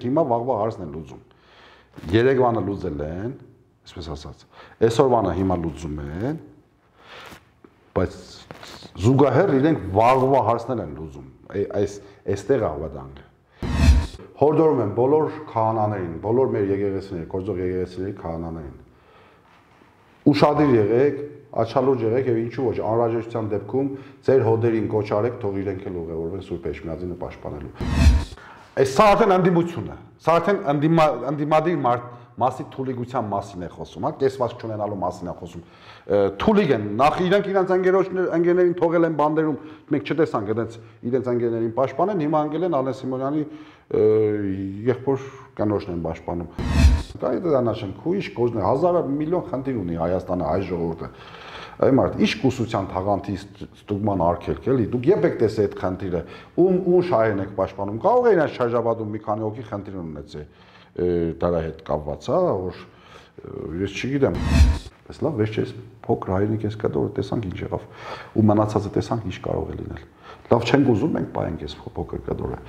իրենք հիմա վաղվա հարցն են լուծում։ Երևանը լուծել են, այսպես ասած։ Այսօրվանը հիմա լուծում են, բայց զուգահեռ իրենք վաղվա հարցներ են լուծում։ Այստեղ ավադանքը։ Հորդորում եմ բոլոր քահանաներին, բոլոր մեր եկեղեցիների, գործող եկեղեցիների քահանաներին։ Ուշադիր եղեք, աչալուրջ եղեք եւ ինչու ոչ անհրաժեշտության դեպքում ձեր հոդերին կոչ արեք, թող իրենք էլ ուղևորվեն Սուրբ Էջմիածինը պաշտպանելու։ Այս սա արդեն ընդդիմություն է։ Սա արդեն ընդդիմադիր մասի թուլիկության մասին է խոսում, հա, կեսված չունենալու մասին է խոսում։ Թուլիկ են, նախ իրենք իրենց ընկերներին թողել են բանդերում, մենք չտեսանք իրենց ընկերներին պաշտպանեն, հիմա անգել են Ալեն Սիմոնյանի եղբոր կնոջն են պաշտպանում։ Դա դառնաշեն քույշ կոզն է, հազարը միլիոն խնդիր ունի Հայաստանը հայ ժողովուրդը։ Այ մարդ, ի՞նչ կուսության թաղանթի ստուգման արգելք էլի, դուք երբ եք տեսել այդ խնդիրը, ում շահերն եք պաշտպանում, կարող է իրենց շարժաբադում մի քանի հոգի խնդիր ունեցել դրա հետ կապված, հա, որ ես չգիտեմ, բայց լավ, վերջերս փոքր հայրենիք էս կդորը տեսանք ինչ եղավ, ու մնացածը տեսանք ինչ կարող է լինել։ Լավ չենք ուզում, մենք պայենք էս փոքր կդորը։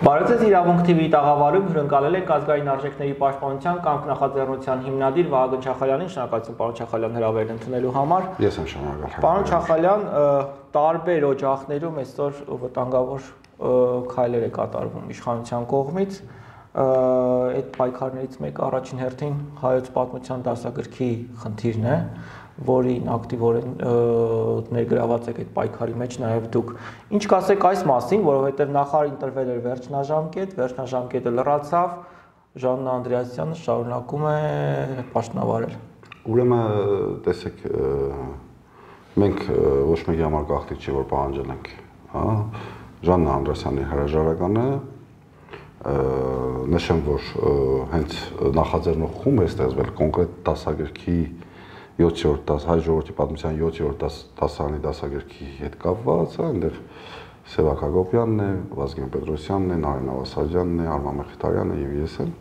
Բարեձեզ իրավունք TV-ի տաղավարում հյուրընկալել ենք ազգային արժեքների պաշտպանության կամք նախաձեռնության հիմնադիր Վահագն Չախալյանին, շնորհակալություն պարոն Չախալյան հրավերն ընդունելու համար։ Ես եմ շնորհակալ։ Պարոն Չախալյան, տարբեր օջախներում այսօր վտանգավոր քայլեր է կատարվում իշխանության կողմից։ Այդ պայքարներից մեկը առաջին հերթին հայոց պատմության դասագրքի խնդիրն է, որին ակտիվորեն ներգրաված եք այդ պայքարի մեջ նաև դուք։ Ինչ կասեք այս մասին, որովհետև նախարար ընտրվել էր վերջնաժամկետը լրացավ, Ժաննա Անդրեասյանը շարունակում է պաշտոնավարել։ Ուրեմն տեսեք, մենք ոչ մեկի համար գաղտնիք չի, որ պահանջել ենք, հա, Ժաննա Անդրեասյանի հրաժարականը, նշեմ, որ հենց նախաձեռնող խումբ է ստեղծվել կոնկրետ դասագրքի 7-րդ հայ ժողովրդի պատմության 7-րդ դասարանի դասագրքի հետ կապված, այնտեղ Սևակ Հակոբյանն է, Վազգեն Պետրոսյանն է, Նարին Ավասարյանն է, Արման Մխիթարյանը եւ ես եմ։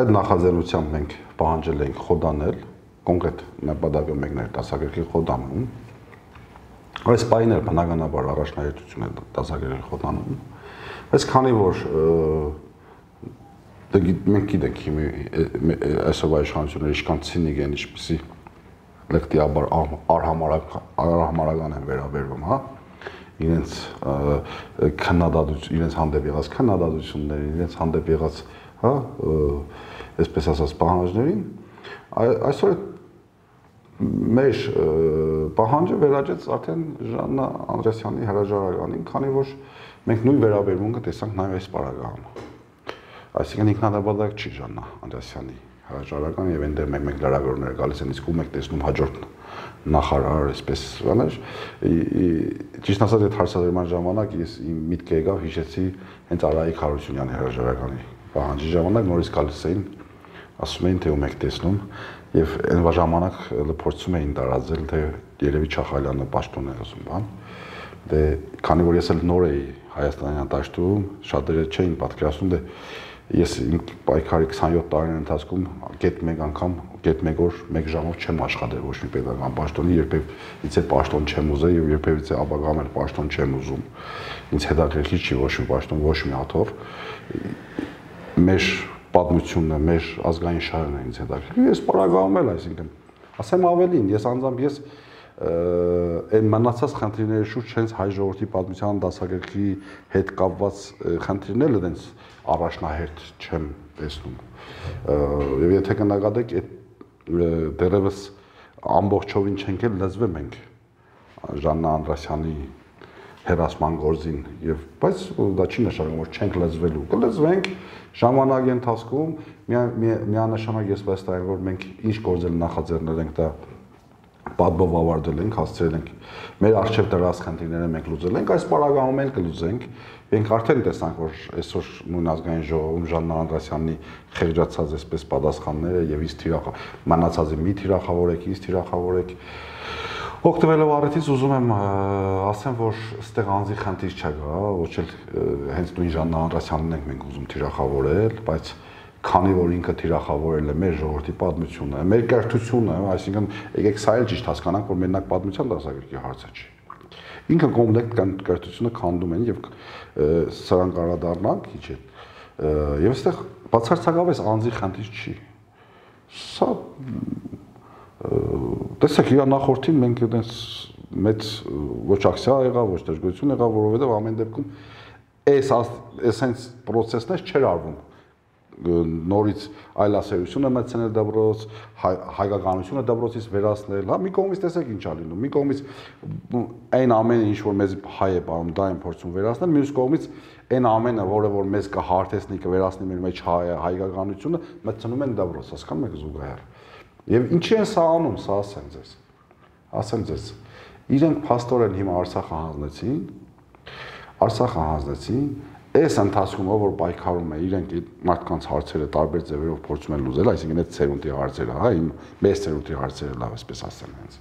Այդ նախաձեռնությամբ մենք պահանջել ենք խոդանել, կոնկրետ նպատակը մեկն էր դասագրքի խոդանում։ Այս պահին էլ բնականաբար առաջնահերթություն է դասագրել խոդանում։ Բայց քանի որ մենք գիտենք այսօրվա իշխանությունները ինչքան ցինիկ են, ինչպեսի լեկտիաբար արհամարական են վերաբերվում, հա, իրենց իրենց հանդեպ եղած քննադատություններին, իրենց հանդեպ եղած, հա, այսպես ասած պահանջներին, այսօր մեր պահանջը վերաճեց արդեն Ժաննա Անդրեասյանի հրաժարականին, քանի որ մենք նույն վերաբերմունքը տեսանք նաև այս պարագայում։ Այսինքն ինքնանպատակ չի Ժաննա Անդրեասյանի հրաժարական եւ այնտեղ մեկ լրագրողներ գալիս են, իսկ ում եք տեսնում հաջորդ նախարար, այսպես բաներ, ճիշտ ասած այդ հարցադրման ժամանակ ես իմ միտքը եկավ, հիշեցի հենց Արայիկ Հարությունյանի հրաժարականի պահանջի ժամանակ նորից գալիս էին, ասում էին թե ում եք տեսնում եւ այն ժամանակ փորձում էին տարածել թե երևի Չախալյանը պաշտոն է ասում, բան։ Դե քանի որ ես էլ նոր էի Հայաստանյան դաշտում, շատերը չէին պատկերացնում, դե ես իմ պայքարի 27 տարիների ընթացքում գետ մեկ անգամ, գետ մեկ օր, մեկ ժամով չեմ աշխատել ոչ մի պետական պաշտոնի, երբևիցե պաշտոն չեմ ուզել եւ երբևիցե ապագայում էլ պաշտոն չեմ ուզում։ Ինձ հետաքրքիր չի ոչ մի պաշտոն, ոչ մի աթոռ։ Մեր պատմությունն է, մեր ազգային շահերն է ինձ հետաքրքիր։ Ես պարագայում էլ, այսինքն, ասեմ ավելին, ես անձամբ այն մնացած խնդիրների շուրջ հենց հայ ժողովրդի պատմության դասագրքի հետ կապված խնդիրները դենց առաջնահերթ չեմ տեսնում։ Եվ եթե կնկատեք, դեռևս ամբողջովին չենք էլ լեզվեմ ենք Ժաննա Անդրեասյանի հերասման գործին, բայց դա չի նշանակում, որ չենք լեզվելու, կլեզվենք ժամանակի ընթացքում, միանշանակ ես վստահ եմ, որ մենք ինչ գործել նախաձեռնել ենք, դա պատբով ավարտել ենք, հասցրել ենք մեր արժեվ դրած խնդիրները մենք լուծել ենք, այս պարագայում էլ կլուծենք։ Մենք արդեն տեսանք, որ այսօր նույն ազգային ժողովում Ժաննա Անդրեասյանի խեղճացած այսպես պատասխանները եւ իսկ մնացածը մի թիրախավորեք, իսկ թիրախավորեք Օգտվելով առիթից ուզում եմ ասեմ, որ այստեղ անձի խնդիր չկա, ոչ էլ հենց նույն Ժաննա Անդրասյանին ենք մենք ուզում թիրախավորել, բայց քանի որ ինքը թիրախավորել է մեր ժողովրդի պատմությունը, մեր կրթությունը, այսինքն եկեք սա էլ ճիշտ հասկանանք, որ մենակ պատմության դասագրքի հարցը չի։ Ինքը կոմպլեկտ կրթությունը քանդում են եւ սրան կարադառնանք քիչ է։ Եվ այստեղ բացարձակապես անձի խնդիր չի։ Սա տեսեք, իր նախորդին մենք այդպես մեծ ոչ ակցիա եղավ, ոչ դժգոհություն եղավ, որովհետեւ ամեն դեպքում այս հենց process-ներ չէր արվում։ Նորից այլասերությունը մտցնել դպրոց, հայկականությունը դպրոցից վերացնել, հա, մի կողմից տեսեք ինչ ա լինում, մի կողմից այն ամենը ինչ որ մեզ հայ է բանում, դա են փորձում վերացնել, մյուս կողմից այն ամենը, որը որ մեզ կհարթեցնի, կվերացնի մեր մեջ հայկականությունը, մտցնում են դպրոց, հասկանում եք զուգահեռ։ Եվ ինչի են սա անում, սա ասեմ ձեզ, իրենք փաստորեն հիմա Արցախը հանձնեցին, այս ընթացքում որ պայքարում է, իրենք մարդկանց հարցերը տարբեր ձևերով փորձում են լուծել, այսինքն այդ ցերունտի հարցերը, հա, մեծ ցերունտի հարցերը լավ էսպես ասեմ հենց։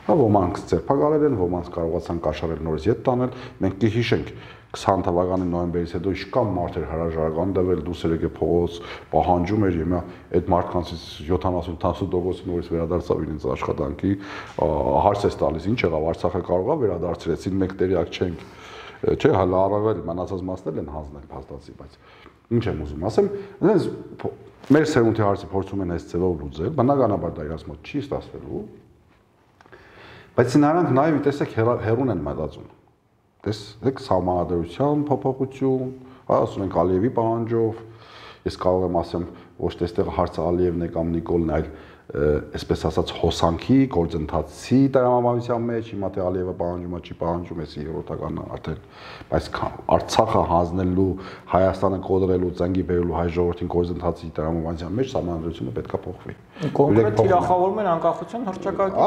Հա, ոմանք ձերբակալել են, ոմանք կարողացան կաշառել նորից ետ տանել, մենք կհիշենք 20 թվականի նոյեմբերից հետո իշքան մարդ էր հրաժարական տվել, դուսեր եկե փողոց, պահանջում էր, հիմա այդ մարդկանցից 70-80% նորից վերադարձավ իրենց աշխատանքի, հարց է տալիս, ինչ եղավ, Արցախը կարող է վերադարձրեցին, մենք տեղյակ չենք, չէ, հələ առավել մնացած մասներ են հանձնել փաստացի, բայց ինչ եմ ուզում ասեմ, այնպես մեր սերունդի հարցը փորձում են այս ձևով լուծել, բնականաբար դա իրաց մոտ չի ստացվելու, բայց նրանք նաև տեսեք հերուն են մտածում։ Տեսեք սահմանադրության փոփոխություն, ասում ենք Ալիևի պահանջով, ես կարող եմ ասեմ, ոչ թե այստեղ հարցը Ալիևն է կամ Նիկոլն, այլ այսպես ասած հոսանքի, գործընթացի տրամաբանության մեջ, հիմա թե Ալիևը պահանջում է, չի պահանջում, էսի երրորդականը արդեն, բայց Արցախը հանձնելու, Հայաստանը կոտրելու, ծնգի բերելու հայ ժողովրդին գործընթացի տրամաբանության մեջ սահմանադրությունը պետք է փոխվի։ Կոնկրետ թիրախավորում են անկախության հռչակագրի։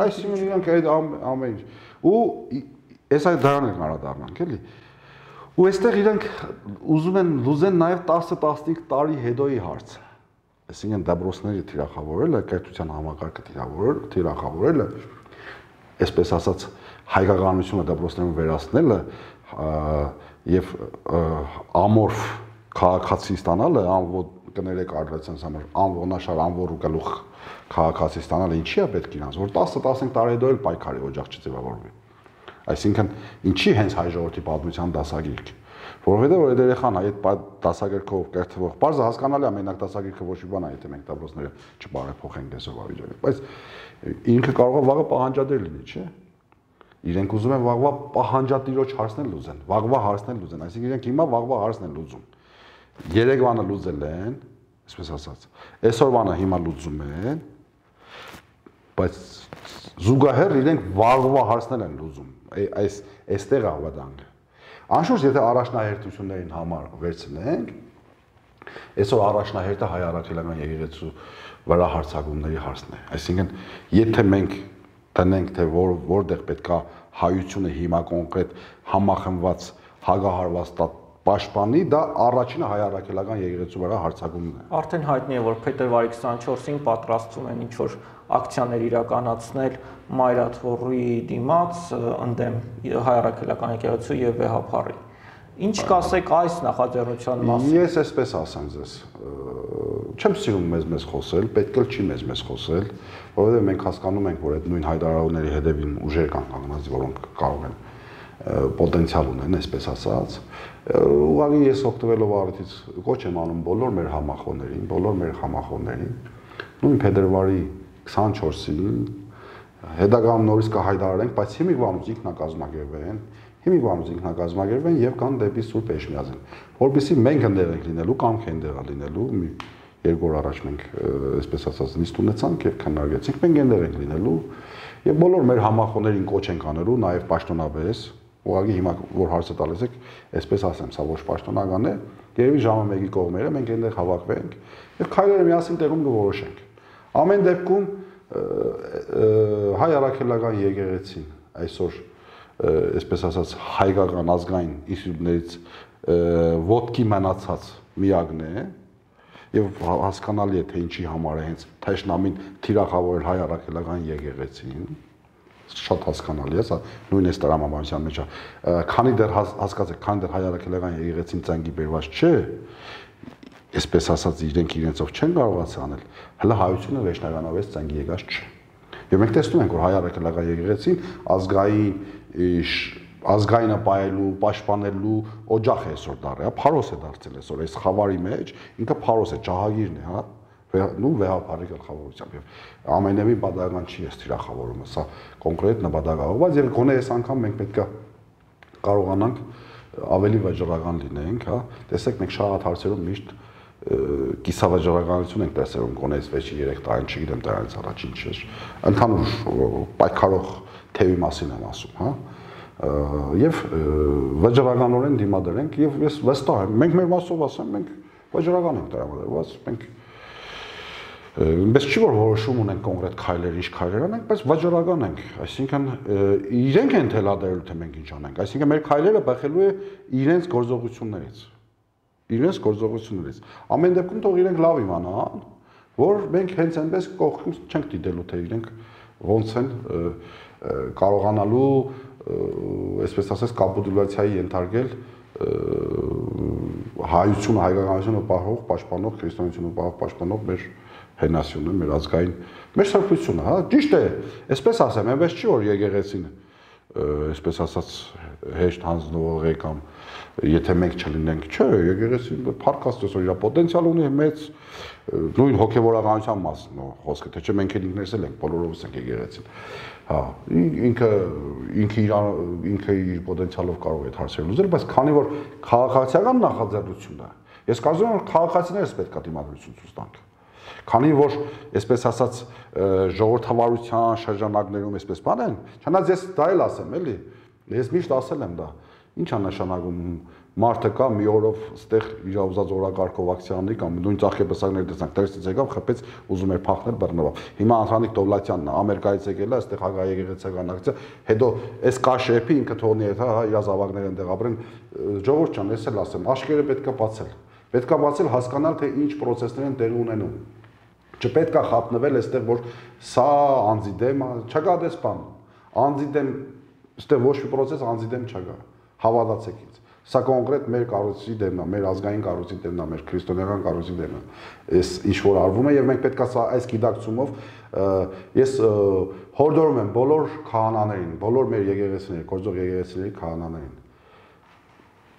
Այսինքն իրանք այդ ամեն ինչ։ Ու այս այդ դրան են անդրադառնանք, էլի։ Ու այստեղ իրանք ուզում են լուծեն նաև 10-15 տարի հետոյի հարցը։ Այսինքն դպրոցների թիրախավորելը, կրթության համակարգը թիրախավորելը, այսպես ասած հայկականությունը դպրոցներում վերացնելը եւ ամորֆ քաղաքացի ստանալը, կներեք արտադրության համար, անողնաշար, անվոռ ու գլուխ քաղաքացի ստանալը ինչի է պետք իրանց, որ 10-15 տարի հետո էլ պայքարի օջախ չձևավորվի։ Այսինքն ինչի հենց հայ ժողովրդի պատմության դասագիրք, որովհետեւ այդ երեխան այդ դասագրքով կերտվող, բարձր հասկանալի է մենակ դասագրքը ոչ մի բան է, եթե մենք դպրոցները չբարեփոխենք այսօրվա վիճակին, բայց ինքը կարող է վաղը պահանջադիր լինի, չէ՞։ Իրենք ուզում են վաղվա պահանջատիրոջ հարցնել լուծեն, վաղվա հարցնել լուծեն, այսինքն իրենք հիմա վաղվա հարցն են լուծում։ Երեկվանը լուծել են, այսպես ասած, այսօրվանը հիմա լուծում են, բայց զուգահեռ իրենք վաղվա հարցնել են լուծում, այստեղ է ավտանգը։ Անշուշտ եթե առաջնահերթություններին համար վերցնենք, այսօր առաջնահերթը հայ առաքելական եկեղեցու վրա հարձակումների հարցն է։ Այսինքն, եթե մենք տնենք, թե որտեղ պետքա հայությունը հիմա կոնկրետ համախմբված, հագահարված պաշտպանի, դա առաջինը հայ առաքելական եկեղեցու վրա հարձակումն է։ Արդեն հայտնի է, որ փետրվարի 24-ին պատրաստվում են ինչ-որ ակցիաներ իրականացնել Մայրաթորի դիմաց ընդդեմ հայ առաքելական եկեղեցու եւ վեհապարի։ Ինչ կասեք այս նախաձեռնության մասին։ Ես այսպես ասեմ ձեզ, չեմ սիրում մեզ խոսել, պետք էլ չի մեզ խոսել, որովհետեւ մենք հասկանում ենք, որ այդ նույն հայտարարությունների հետևին ուժեր կան կանգնած, որոնք կարող են պոտենցիալ ունեն, այսպես ասած։ Ուղղակի ես օգտվելով առիթից կոչ եմ անում բոլոր մեր համախոհներին, նույն փետրվարի 24-ին հետագայում նորից կհայտարարենք, բայց հիմիկվանուց ինքնակազմակերպվեն եւ կան դեպի Սուրբ Էջմիածին, որովհետեւ մենք ընդեղ ենք լինելու կամ քենդեղ լինելու, մի երկու օր առաջ մենք այսպես ասած նիստ ունեցանք եւ քննարկեցինք, մենք ընդեղ ենք լինելու եւ բոլոր մեր համախոհներին կոչ ենք անելու, նաեւ պաշտոնապես, ուղղակի հիմա որ հարցը տալիս եք, այսպես ասեմ, սա ոչ պաշտոնական է, երևի ժամը 1-ի կողմերը մենք այնտեղ հավաքվենք եւ քայլերը միասին տեղում կորոշենք։ Ամեն դեպքում հայ առաքելական եկեղեցին այսօր այսպես ասած հայկական ազգային ինստիտուտներից ոտքի մնացած միակն է եւ հասկանալի է թե ինչի համար է հենց թեժնամին թիրախավորել հայ առաքելական եկեղեցին շատ հասկանալի է, սա նույն էս տրամաբանության մեջ է։ Քանի դեռ հասկացեք, քանի դեռ հայ առաքելական եկեղեցին ծանգի բերված չէ, այսպես ասած իրենք իրենցով չեն կարողացել անել, հələ հայությունը վերջնականով էս ծանգի եկած չէ։ Եվ մենք տեսնում ենք, որ հայ առաքելական եկեղեցին ազգայինը պայելու, պաշտպանելու օջախ է այսօր դառել, փարոս է դարձել այսօր այս խավարի մեջ, ինքը փարոս է, ջահագիրն է, հա, նու վեհապարի գլխավորությամբ եւ ամենևին բադական չի այս թիրախավորումը, սա կոնկրետ նպատակաուղված եւ գոնե այս անգամ մենք պետքա կարողանանք ավելի վճռական լինենք, հա, տեսեք մենք շատ հարցերում միշտ կիսավճռականություն ենք տեսնում, գոնե այս վերջի 3 տարին, չգիտեմ, դրանից առաջին չէ, ընդհանուր պայքարող թեւի մասին եմ ասում, հա, եւ վճռականորեն դիմադրենք եւ ես վստահ եմ, մենք մեր մասով ասեմ, մենք վճռական ենք տրամադրված, մենք Բայց չի որ որոշում ունենք կոնկրետ քայլեր, ինչ քայլեր անենք, բայց վճռական ենք, այսինքն իրենք են թելադրելու թե մենք ինչ անենք, այսինքն մեր քայլերը բախելու է իրենց գործողություններից։ Իրենց գործողություններից։ Ամեն դեպքում թող իրենք լավ իմանան, որ մենք հենց այնպես կողքից չենք դիտելու, թե իրենք ոնց են կարողանալու, այսպես ասած, կապիտուլյացիայի ենթարկել հայությունը, հայկականությունը պահող, պաշտպանող, քրիստոնեությունը պահող, պաշտպանող մեր հենասյունը, մեր ազգային, մեր սրբությունը, հա, ճիշտ է, այսպես ասեմ, այնպես չի որ եկեղեցին, այսպես ասած, հեշտ հանձնվող է կամ եթե մենք չլինենք, չէ, եկեղեցին փառք Աստծո, իր պոտենցիալ ունի մեծ, նույն հոգևորականության մասն է խոսքը, թե չէ մենք ինքներս էլ ենք, բոլորովս ենք եկեղեցին, հա, ինքը իր պոտենցիալով կարող է այդ հարցերը լուծել, բայց քանի որ քաղաքացիական նախաձեռնությունն է, ես կարծում եմ, որ քաղաքացիներս պետք է դիմադրություն ցույց տանք։ Քանի որ, այսպես ասած, ժողովրդավարության շրջանակներում այսպես բան են, չնայած ես դա էլ ասեմ, էլի, ես միշտ ասել եմ դա, ինչ է նշանակում մարդը կա մի օրով ստեղ իր ուզած օրակարգով ակցիա անի կամ նույն ծաղկեպսակներ տեսանք, դերսից եկավ, խփեց, ուզում էր փախնել բռնվավ։ Հիմա Անդրանիկ Դովլատյանն է, Ամերիկայից եկել է, այստեղ հագայեկեղեցական ակցիա, հետո այս կաշեպի ինքը թողնի այդ, հա, իր զավակները այնտեղ ապրեն, ժողովուրդ ջան, ես էլ ասեմ, աշկերը պետքա բացել։ Պետքա բացել, հասկանալ, թե ինչ process-ներ են տեղի ունենում։ Չպետք է խափնվել այստեղ, որ սա անձի դեմ, չկա դες բան։ Անձի դեմ, այստեղ ոչ մի process անձի դեմ չկա։ Հավատացեք ինձ։ Սա կոնկրետ մեր կառույցի դեմն է, մեր ազգային կառույցի դեմն է, մեր քրիստոնեական կառույցի դեմն է։ Այս ինչ որ արվում է եւ մենք պետք է սա այս գիտակցումով ես հորդորում եմ բոլոր քահանաներին, բոլոր մեր եկեղեցիների, գործող եկեղեցիների քահանաներին։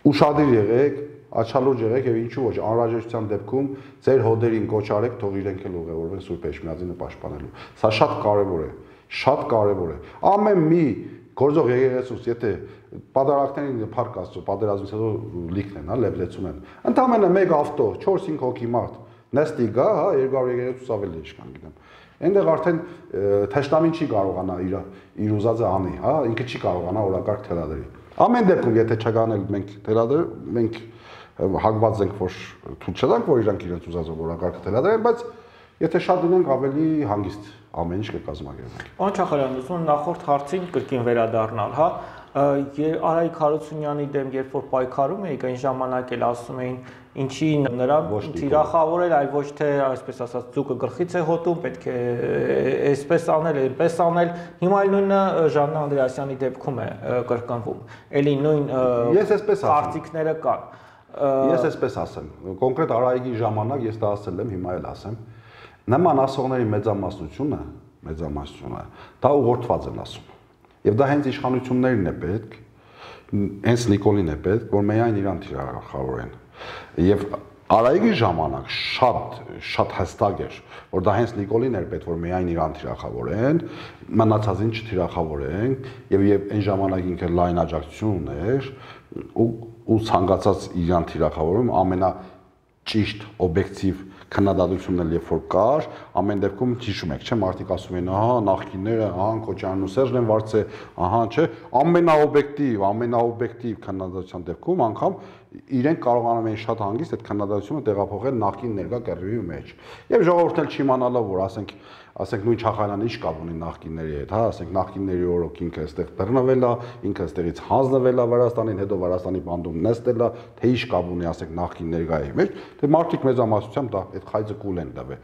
Ուշադիր եղեք, աչալուրջ եղեք եւ ինչու ոչ անհրաժեշտության դեպքում ձեր հոդերին կոչ արեք, թող իրենք էլ ուղևորվեն Սուրբ Էջմիածինը պաշտպանելու։ Սա շատ կարեւոր է, շատ կարեւոր է։ Ամեն մի գործող եկեղեցուց, եթե պատարակներին փառք Աստծո, պատերազմից հետո լիքն են, հա, լեփլեցուն են։ Ընդամենը մեկ ավտո, 4-5 հոգի մարդ, նստի գա, հա, 200 եկեղեցուց ավելի ինչքան գիտեմ։ Այնտեղ արդեն թշնամին չի կարողանա իր ուզածը անի, հա, ինքը չի կարողանա օրակարգ թելադրի։ Ամեն դեպքում, եթե չկանել մենք թելադրել, մենք հագված ենք, որ թույլ չտանք, որ իրանք իրենց ուզածը օրակարգը թելադրեն, բայց եթե շատ լինենք ավելի հանգիստ ամեն ինչ կկազմակերպենք։ Պարոն Չախարյան, ուզում եմ նախորդ հարցին կրկին վերադառնալ, հա, Արայիկ Հարությունյանի դեմ երբ որ պայքարում էիք, այն ժամանակ էլ ասում էին, ինչի նրան թիրախավորել, այլ ոչ թե այսպես ասած ձուկը գլխից է հոտում, պետք է այսպես անել, այնպես անել։ Հիմա էլ նույնը Ժաննա Անդրեասյանի դեպքում է կրկնվում։ Էլի նույն կարծիքները կան։ Ես այսպես ասեմ, կոնկրետ Արայիկի ժամանակ ես դա ասել եմ, հիմա էլ ասեմ, նման ասողների մեծամասնությունը, դա ուղղորդված են ասում։ Եվ դա հենց իշխանություններին է պետք, հենց Նիկոլին է պետք, որ միայն իրան թիրախավորեն։ Եվ Արայիկի ժամանակ շատ հստակ էր, որ դա հենց Նիկոլին էր պետք, որ միայն իրան թիրախավորեն, մնացածին չթիրախավորեն, եւ այն ժամանակ ինքը լայն աջակցություն ուներ ու ցանկացած իրան թիրախավորում ամենաճիշտ օբյեկտիվ քննադատությունն էլ երբ որ կար, ամեն դեպքում հիշում եք, չէ՞, մարդիկ ասում են, ահա, նախկինները, ահա, Քոչարյանն ու Սերժն են վարձել, ահա, չէ, ամենաօբյեկտիվ քննադատության դեպքում անգամ իրենք կարողանում են շատ հանգիստ այդ քննադատությունը տեղափոխել նախկին ներկա կռիվի մեջ։ Եվ ժողովուրդն էլ չիմանալով, որ ասենք նույն Չախալյանը ինչ կապ ունի նախկինների հետ, հա, ասենք նախկինների օրոք ինքը այստեղ բռնվել է, ինքը այստեղից հանձնվել է Վրաստանին, հետո Վրաստանի բանդում նստել է, թե ինչ կապ ունի, ասենք նախկին ներկայի մեջ, թե մարդիկ մեծամասնությամբ դա այդ խայծը կուլ են տվել։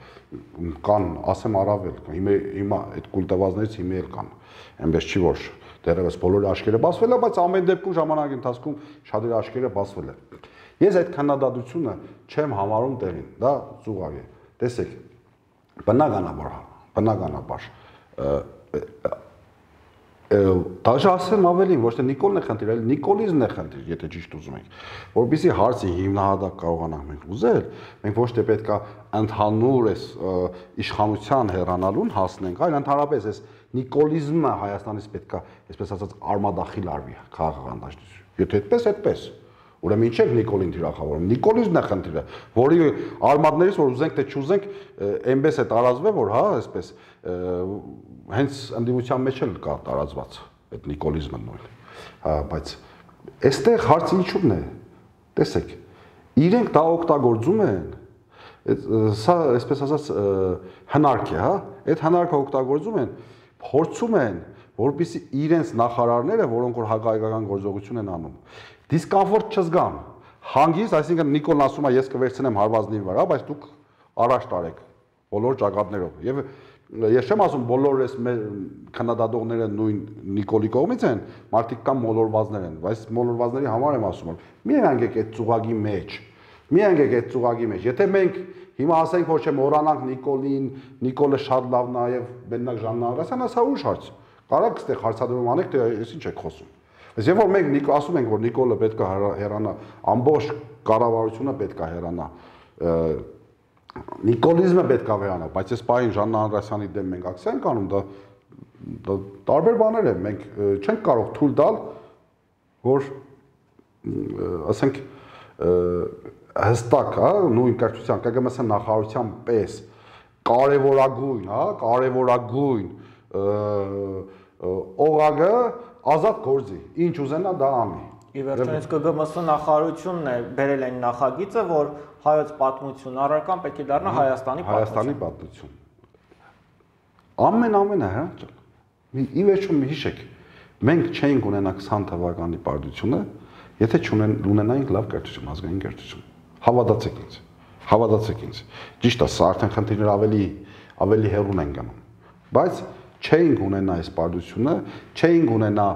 Կան, ասեմ առավել, հիմա այդ կուլ տվածներից հիմա էլ կան։ Այնպես չի որ դեռևս բոլորի աչքերը բացվել է, բայց ամեն դեպքում ժամանակի ընթացքում շատերի աչքերը բացվել է։ Ես այդ քննադատությունը չեմ համարում տեղին, դա ծուղակ է։ Տեսեք, բնականաբար դաժե ասեմ ավելին, ոչ թե Նիկոլն է խնդիր, այլ Նիկոլիզմն է խնդիր, եթե ճիշտ ուզում ենք, որպեսզի հարցի հիմնահատակ կարողանանք մենք ուզել, մենք ոչ թե պետք է ընդհանուր այս իշխանության հեռանալուն հասնենք, այլ ընդհանրապես այս Նիկոլիզմը Հայաստանից պետք է, այսպես ասած, արմադախիլ արվի քաղաքական դաշտություն։ Եթե այդպես, ուրեմն ինչ է Նիկոլին թիրախավորում։ Նիկոլիզմն է խնդիրը, որի արմատներից որ ուզենք թե չուզենք, այնպես է տարածվել, որ հա, այսպես հենց ընդդիմության մեջ էլ կա տարածված այդ նիկոլիզմը նույն։ Հա, բայց այստեղ հարցը ինչու՞մն է։ Տեսեք, իրենք դա օգտագործում են, սա այսպես ասած հնարք է, հա, այդ հնարքը օգտագործում են, փորձում են, որպեսզի իրենց նախարարները, որոնք որ հակահայկական գործողություն են անում, դիսկոմֆորտ չզգան։ Հանգիստ, այսինքն Նիկոլն ասում է, ես կվերցնեմ հարվածների վրա, բայց դուք առաջ տարեք բոլոր ճակատներով։ Եվ ես չեմ ասում բոլոր այս քննադատողները նույն Նիկոլի կողմից են, մարդիկ կան մոլորվածներ են, բայց մոլորվածների համար եմ ասում, մի հանգեք այդ ծուղակի մեջ, մի հանգեք այդ ծուղակի մեջ։ Եթե մենք հիմա ասենք, որ չէ մոռանանք Նիկոլին, Նիկոլը շատ լավն է եւ բեննակ Ժաննա Անդրեասյանը, սա ուրիշ հարց։ Կարաք այստեղ հարցադրում անեք, թե ես ինչ եք խոսում։ Բայց երբ որ մենք ասում ենք, որ Նիկոլը պետք է հեռանա, ամբողջ կառավարությունը պետք է հեռանա, Նիկոլիզմը պետք է հեռանա, բայց այս պահին Ժաննա Անդրեասյանի դեմ մենք ակցիա ենք անում, դա տարբեր բաներ են, մենք չենք կարող թույլ տալ, որ ասենք հստակ, հա, նույն կրթության, ԿԳՄՍ նախարարության պես կարևորագույն, հա, կարևորագույն օղակը ազատ գործի, ինչ ուզենա դա անի։ Ի վերջո ԿԳՄՍ նախարարությունն է բերել այն նախագիծը, որ հայոց պատմություն առարկան պետք է դառնա Հայաստանի պատմություն։ Ամենը հա, ի վերջո հիշեք, մենք չէինք ունենա 20 թվականի պարտությունը, եթե չունենայինք լավ կրթություն, ազգային կրթություն։ Հավատացեք ինձ։ Ճիշտ է, սա արդեն խնդիրներ ավելի հեռուն են գնում, բայց չէինք ունենա այս պարտությունը, չէինք ունենա,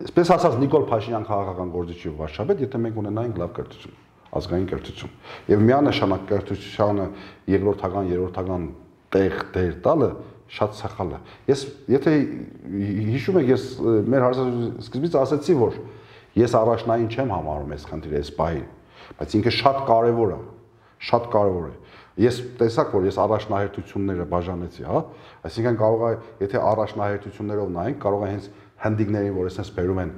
այսպես ասած Նիկոլ Փաշինյան քաղաքական գործիչի վարչապետ, եթե մենք ունենայինք լավ կրթություն, ազգային կրթություն։ Եվ միանշանակ կրթությանը երրորդական տեղ տալը շատ սխալ է։ Ես եթե հիշում եք, ես մեր հարցազրույցի սկզբից ասացի, որ ես առաջնային չեմ համարում այս խնդիրը այս պահին, բայց ինքը շատ կարևոր է։ Ես տեսակ, որ ես առաջնահերթությունները բաժանեցի, հա, այսինքն կարող է, եթե առաջնահերթություններով նայենք, կարող է հենց հնդիկներին, որ այսպես բերում են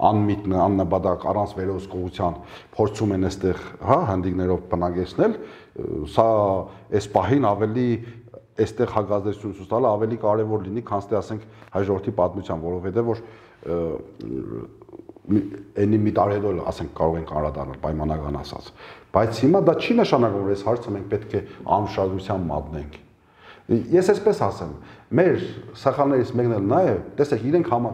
անմիտ, աննպատակ, առանց վերահսկողության, փորձում են այստեղ, հա, հնդիկներով բնակեցնել, սա այս պահին ավելի այստեղ հակազդեցություն ցույց տալը ավելի կարևոր լինի, քան թե ասենք հայ ժողովրդի պատմության, որովհետև որ այնի մի տարի հետո ասենք կարող ենք անդրադառնալ պայմանական ասած, բայց հիմա դա չի նշանակում, որ այս հարցը մենք պետք է անշարժության մատնենք։ Ես այսպես ասեմ, մեր սխալներից մեկն էլ նա է, տեսեք,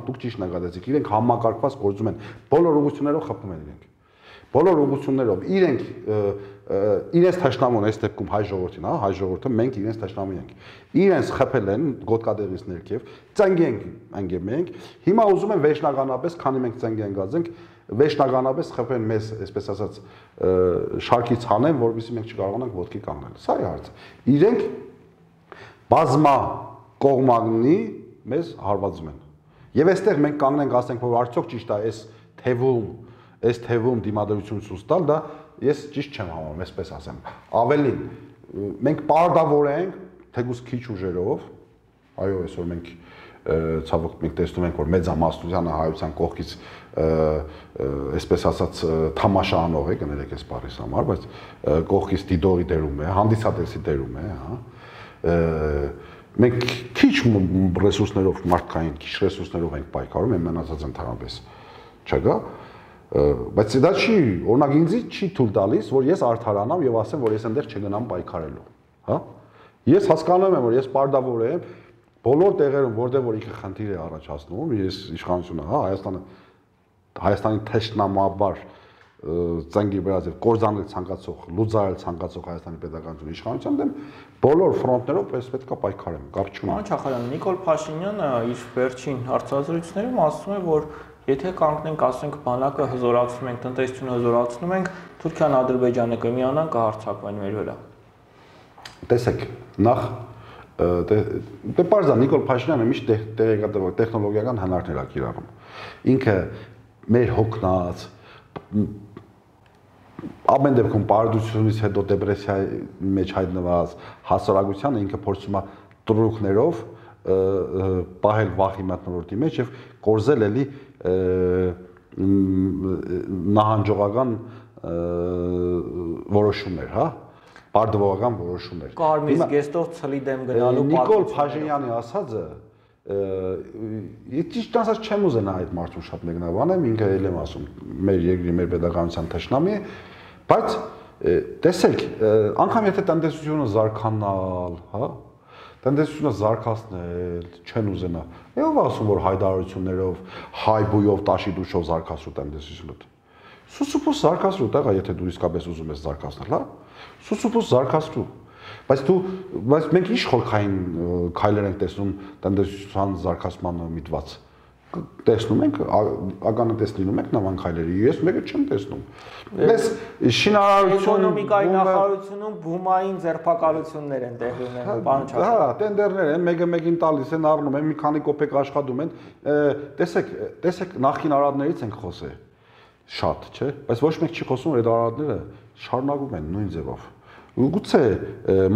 դուք ճիշտ նկատեցիք, իրենք համակարգված գործում են, բոլոր ուղղություններով խփում են իրենք։ Բոլոր ուղղություններով իրենց թշնամուն այս դեպքում հայ ժողովրդին, հա, հայ ժողովուրդը մենք իրենց թշնամի ենք։ Իրենց խփել են գոտկատեղից ներքև, ծնգի ենք, հիմա ուզում են վերջնականապես, քանի մենք ծնգի ենք գածենք, վերջնականապես խփեն մեզ, այսպես ասած, շարքից հանեն, որովհետեւ մենք չկարողանանք ոտքի կանգնել։ Սա է հարցը։ Իրենք բազմա կողմանի մեզ հարվածում են։ Եվ այստեղ մենք կանգնենք, ասենք, որ արդյոք ճիշտ է այս թևում դիմադրություն ցույց տալ, դա ես ճիշտ չեմ համարում, այսպես ասեմ։ Ավելին, մենք պարտավոր ենք, թեկուզ քիչ ուժերով, այո, այսօր մենք ցավոք մենք տեսնում ենք, որ մեծամասնությունը հայության կողքից այսպես ասած թամաշա անող է, կներեք այս բառից համար, բայց կողքից դիդողի դերում է, հանդիսատեսի դերում է, հա։ Մենք քիչ ռեսուրսներով մարդկային, քիչ ռեսուրսներով ենք պայքարում, մնացած ընդհանրապես չկա, Բայց դա չի, օրինակ ինձ չի թույլ տալիս, որ ես արդարանամ եւ ասեմ, որ ես այնտեղ չգնամ պայքարելու, հա։ Ես հասկանում եմ, որ ես պարտավոր եմ բոլոր տեղերում, որտեղ որ ինքը խնդիր է առաջացնում, ես իշխանությունը, հա, Հայաստանի թշնամաբար ծնգի վրաձև կորզանել ցանկացող, լուծարել ցանկացող Հայաստանի պետականություն իշխանության դեմ բոլոր ֆրոնտներով պես պետքա պայքարեմ, կապ չունի։ Պարոն Չախալյան, Նիկոլ Փաշինյանը իր վերջին հարցազրույցներում ասում է, որ եթե կանգնենք, ասենք, բանակը հզորացնում ենք, տնտեսությունը հզորացնում ենք, Թուրքիան, Ադրբեջանը կմիանան, կհարձակվեն մեր վրա։ Տեսեք, նախ դե պարզ է Նիկոլ Փաշինյանը միշտ տեխնոլոգիական հնարքներ ա կիրառում։ Ինքը մեր հոգնած ամեն դեպքում պարդությունից հետո դեպրեսիայի մեջ հայտնված հասարակությանը ինքը փորձում է տրուկներով պահել վախի մթնոլորտի մեջ եւ կորզել էլի նահանջողական որոշումներ, հա, բարդվողական որոշումներ։ Կարմիր զգեստով ցլի դեմ գնալու Նիկոլ Փաշինյանի ասածը Ես ճիշտ ասած չեմ ուզենա այդ մարդուն շատ մեկնաբանեմ, ինքը էլ եմ ասում, մեր երկրի, մեր պետականության թշնամի է, բայց տեսեք, անգամ եթե տնտեսությունը զարգանալ, հա, տնտեսությունը զարգացնել չեն ուզենա։ Ով ասում, որ հայտարարություններով, հայբույով, տաշի-դուշով զարգացրու տնտեսությունը։ Սուսուփուս զարգացրու, տեղա, եթե դու իսկապես ուզում ես զարգացնել, հա, սուսուփուս զարգացրու։ Բայց մենք ինչ խորքային քայլեր ենք տեսնում տնտեսության զարգացմանը միտված։ Տեսնում ենք, ականատես լինում ենք նման քայլերի, ես մեկը չեմ տեսնում։ Ես շինարարություն էկոնոմիկայի նախարարությունում բումային ձերբակալություններ են տեղի ունենում, պարոն Չախալյան։ Հա, տենդերներ են, մեկը մեկին տալիս են, առնում են, մի քանի կոպեկ աշխատում են։ Տեսեք, նախկին արարատներից ենք խոսել շատ, չէ՞, բայց ոչ մեկ չի խոսում, որ այդ արարատները շարունակում են նույն ձևով։ Գուցե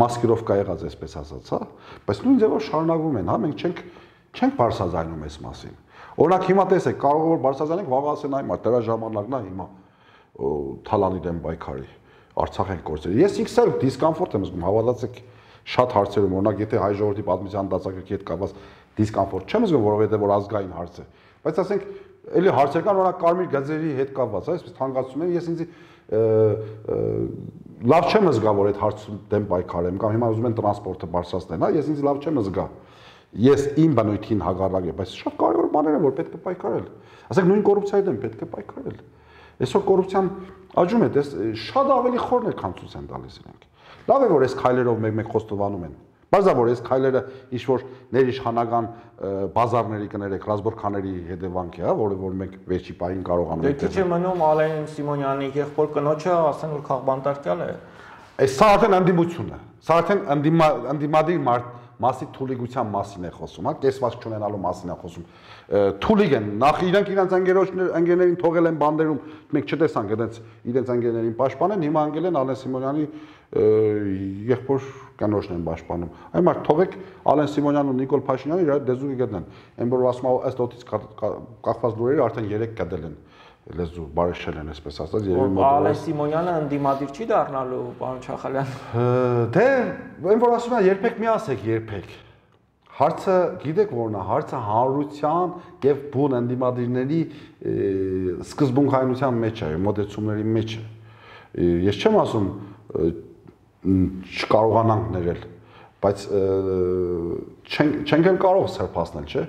մասկիրովկա եղած այսպես ասած, հա, բայց նույն ձևով շարունակվում են, հա, մենք չենք բարձրացնում այս մասին։ Օրինակ հիմա տեսեք, կարող է որ բարձրացնենք, վաղ ասեն այ մարդ, դրա ժամանակն է հիմա Թալանի դեմ պայքարի, Արցախ են կորցրել։ Ես ինքս էլ դիսկոմֆորտ եմ զգում, հավատացեք, շատ հարցերում, օրինակ եթե հայ ժողովրդի պատմության դասագրքի հետ կապված դիսկոմֆորտ չեմ զգում, որովհետև որ ազգային հարց է, բայց ասենք, էլի հարցեր կան, օրինակ կարմիր գծերի հետ կապված, այսպես թանկացում են, ես ինձ լավ չեմ զգա, որ այդ հարցում դեմ պայքարեմ, կամ հիմա ուզում են տրանսպորտը բարձրացնել, հա, ես ինձ լավ չեմ զգա։ Ես իմ բնույթին հակառակ եմ, բայց շատ կարևոր բաներ են, որ պետք է պայքարել։ Ասենք նույն կոռուպցիայի դեմ պետք է պայքարել։ Այսօր կոռուպցիան աճում է, շատ ավելի խորն է, քան ցույց են տալիս իրենք։ Լավ է, որ այս քայլերով մեկ-մեկ խոստովանում են։ Բարձր որ այս քայլերը ինչ որ ներիշխանական բազարների կներեք, ռազմորքաների հետևանք է, հա, որ մենք վերջի պահին կարողանում ենք։ Դե քիչ է մնում Ալեն Սիմոնյանի եղբոր կնոջը, ասեն որ քաղբանտարկյալ է։ Այս սա արդեն ընդդիմություն է։ Սա արդեն ընդդիմադիր մասի թուլիկության մասին է խոսում, հա, կեսված չունենալու մասին է խոսում։ Թուլիկ են, նախ իրենք իրենց ընկերներին թողել են բանդերում, մենք չտեսանք իրենց ընկերներին պաշտպանեն, հիմա անգել են Ալեն Սիմոնյանի եղբոր կնոջն են պաշտպանում։ Այն մարդ թողեք Ալեն Սիմոնյանն ու Նիկոլ Փաշինյանը իրար դեզուկի գտնեն։ Այն որ ասում է ըստ օդից կախված լուրերը արդեն 3 կդել են լեզու բարեշել են, այսպես ասած, երևի մոտ։ Ալեն Սիմոնյանը ընդդիմադիր չի դառնալու, պարոն Չախալյան։ Դե, այն որ ասում է երբեք մի ասեք, երբեք։ Հարցը, գիտեք որն է, հարցը հանրության եւ բուն ընդդիմադիրների սկզբունքայնության մեջ է, մոտեցումների մեջ է։ Ես չեմ ասում չկարողանանք ներել, բայց չենք էլ կարող սրբացնել, չէ՞։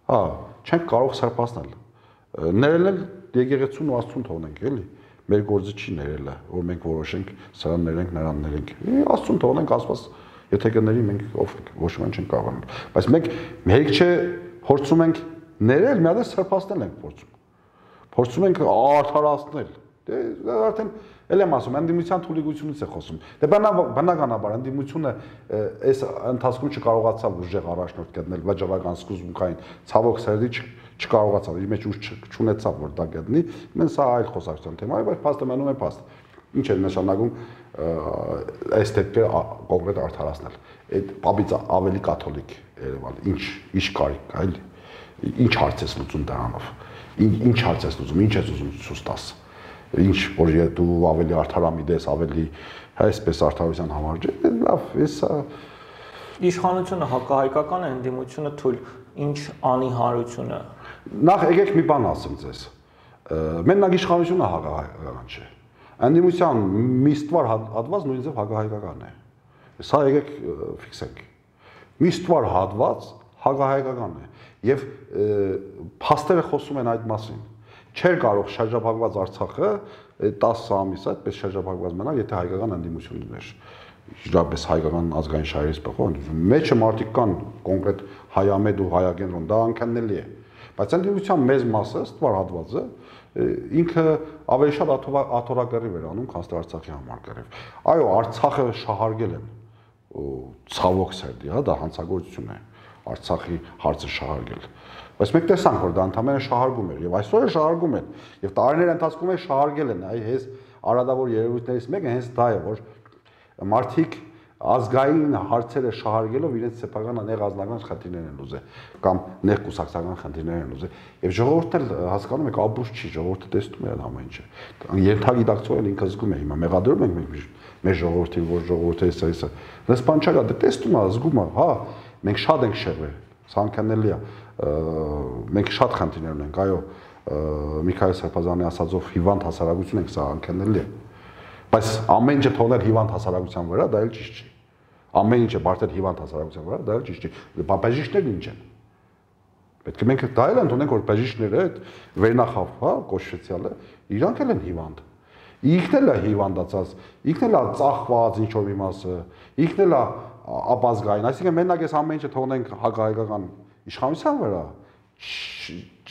Հա, չենք կարող սրբացնել։ Ներելն եկեղեցուն ու Աստծուն թողնենք, էլի։ Մեր գործը չի ներելը, որ մենք որոշենք սրան ներենք, նրան ներենք։ Աստծուն թողնենք, Աստված եթե կների մենք ով ոչ ոք չենք կարողանում։ Բայց մենք հերիք չէ փորձում ենք ներել, մի հատ սրբացնել ենք փորձում։ Փորձում ենք արդարացնել։ Դե արդեն էլ եմ ասում, ընդդիմության թուլիկությունից է խոսում։ Դե բնականաբար ընդդիմությունը այս ընթացքում չկարողացավ ուժեղ առաջնորդ գտնել վաճառական սկզբունքային ցավոք սերդի չկարողացավ, իր մեջ ուժ չունեցավ որ դա գտնի։ Մենք սա այլ խոսակցության թեմա է, բայց փաստը մնում է փաստ։ Ինչ է նշանակում այս դեպքը կոնկրետ արդարացնել։ Այդ պապից ավելի կաթոլիկ Երևան, ինչ կարիք կա, էլի։ Ինչ հարց ես լուծում դրանով։ Ինչ հարց ես լուծում, ինչ ես ուզում ցույց տաս։ Ինչ որ դու ավելի արդարամիտ ես, ավելի այսպես արդարության համար, լավ, էսա Իշխանությունը հակահայկական է, ընդդիմությունը թույլ, ինչ անի հանրությունը։ Նախ եկեք մի բան ասեմ ձեզ։ Մենակ իշխանությունը հակահայկական չէ։ Անդիմության մի ստվար հատված նույնիսկ հակահայկական է։ Սա եկեք ֆիքսենք։ Մի ստվար հատված հակահայկական է եւ փաստերը խոսում են այդ մասին։ Չէր կարող շրջափակված Արցախը 10 ամիս այդպես շրջափակված մնալ, եթե հայկական անդիմություն լիներ։ Իրապես հայկական ազգային շահերից բխող մեջը մարդիկ կան կոնկրետ հայամետ ու հայագենրոն, դա անքաննելի է։ Բայց անդիմության մեծ մասը, ստվար հատվածը ինքը ավելի շատ աթոռակռիվ էր անում, քան Արցախի համար կռիվ։ Այո, Արցախը շահարկել են ցավոք սերդի, հա, դա հանցագործություն է։ Արցախի հարցը շահարկել։ Բայց մենք տեսանք, որ դա ընդհանրապես շահարկում էր եւ այսօր է շահարկում են։ Եվ տարիների ընթացքում է շահարկել են, այ հենց արադավոր երևույթներից մեկը հենց դա է, որ մարդիկ ազգային հարցերը շահարկելով իրենց սեփական նեղազնական խնդիրներ են ուզել կամ ներկուսակցական խնդիրներ են ուզել եւ ժողովուրդն էլ հասկանում եք ապուշ չի ժողովուրդը տեսնում է ամեն ինչը երթագիտակցողն ինքը զգում է հիմա մեղադրում ենք մենք մեր ժողովրդին որ ժողովուրդը էսա դες բան չկա դա տեսնում է զգում է հա մենք շատ ենք շեղվել ցանկանելի է մենք շատ խնդիրներ ունենք այո Միքայել Սարփազյանի ասածով հիվանդ հասարակություն ենք սա անքննելի է բայց ամեն ինչը թողնել հիվանդ հասարակության վրա դա էլ ճիշտ չի ամեն ինչը բարդել հիվանդ հասարակության վրա դա էլ ճիշտ չի բաժիշկներն ինչ են պետք է մենք դա էլ ընդունենք որ բաժիշկները այդ վերնախավ հա կոչվեցյալը իրանք էլ են հիվանդ ինքն էլ է հիվանդացած ինքն էլ է ծախված ինչ որ մի մասը ինքն էլ է ապազգային այսինքն մենակ այս ամեն ինչը թողնենք հակահայկական իշխանության վրա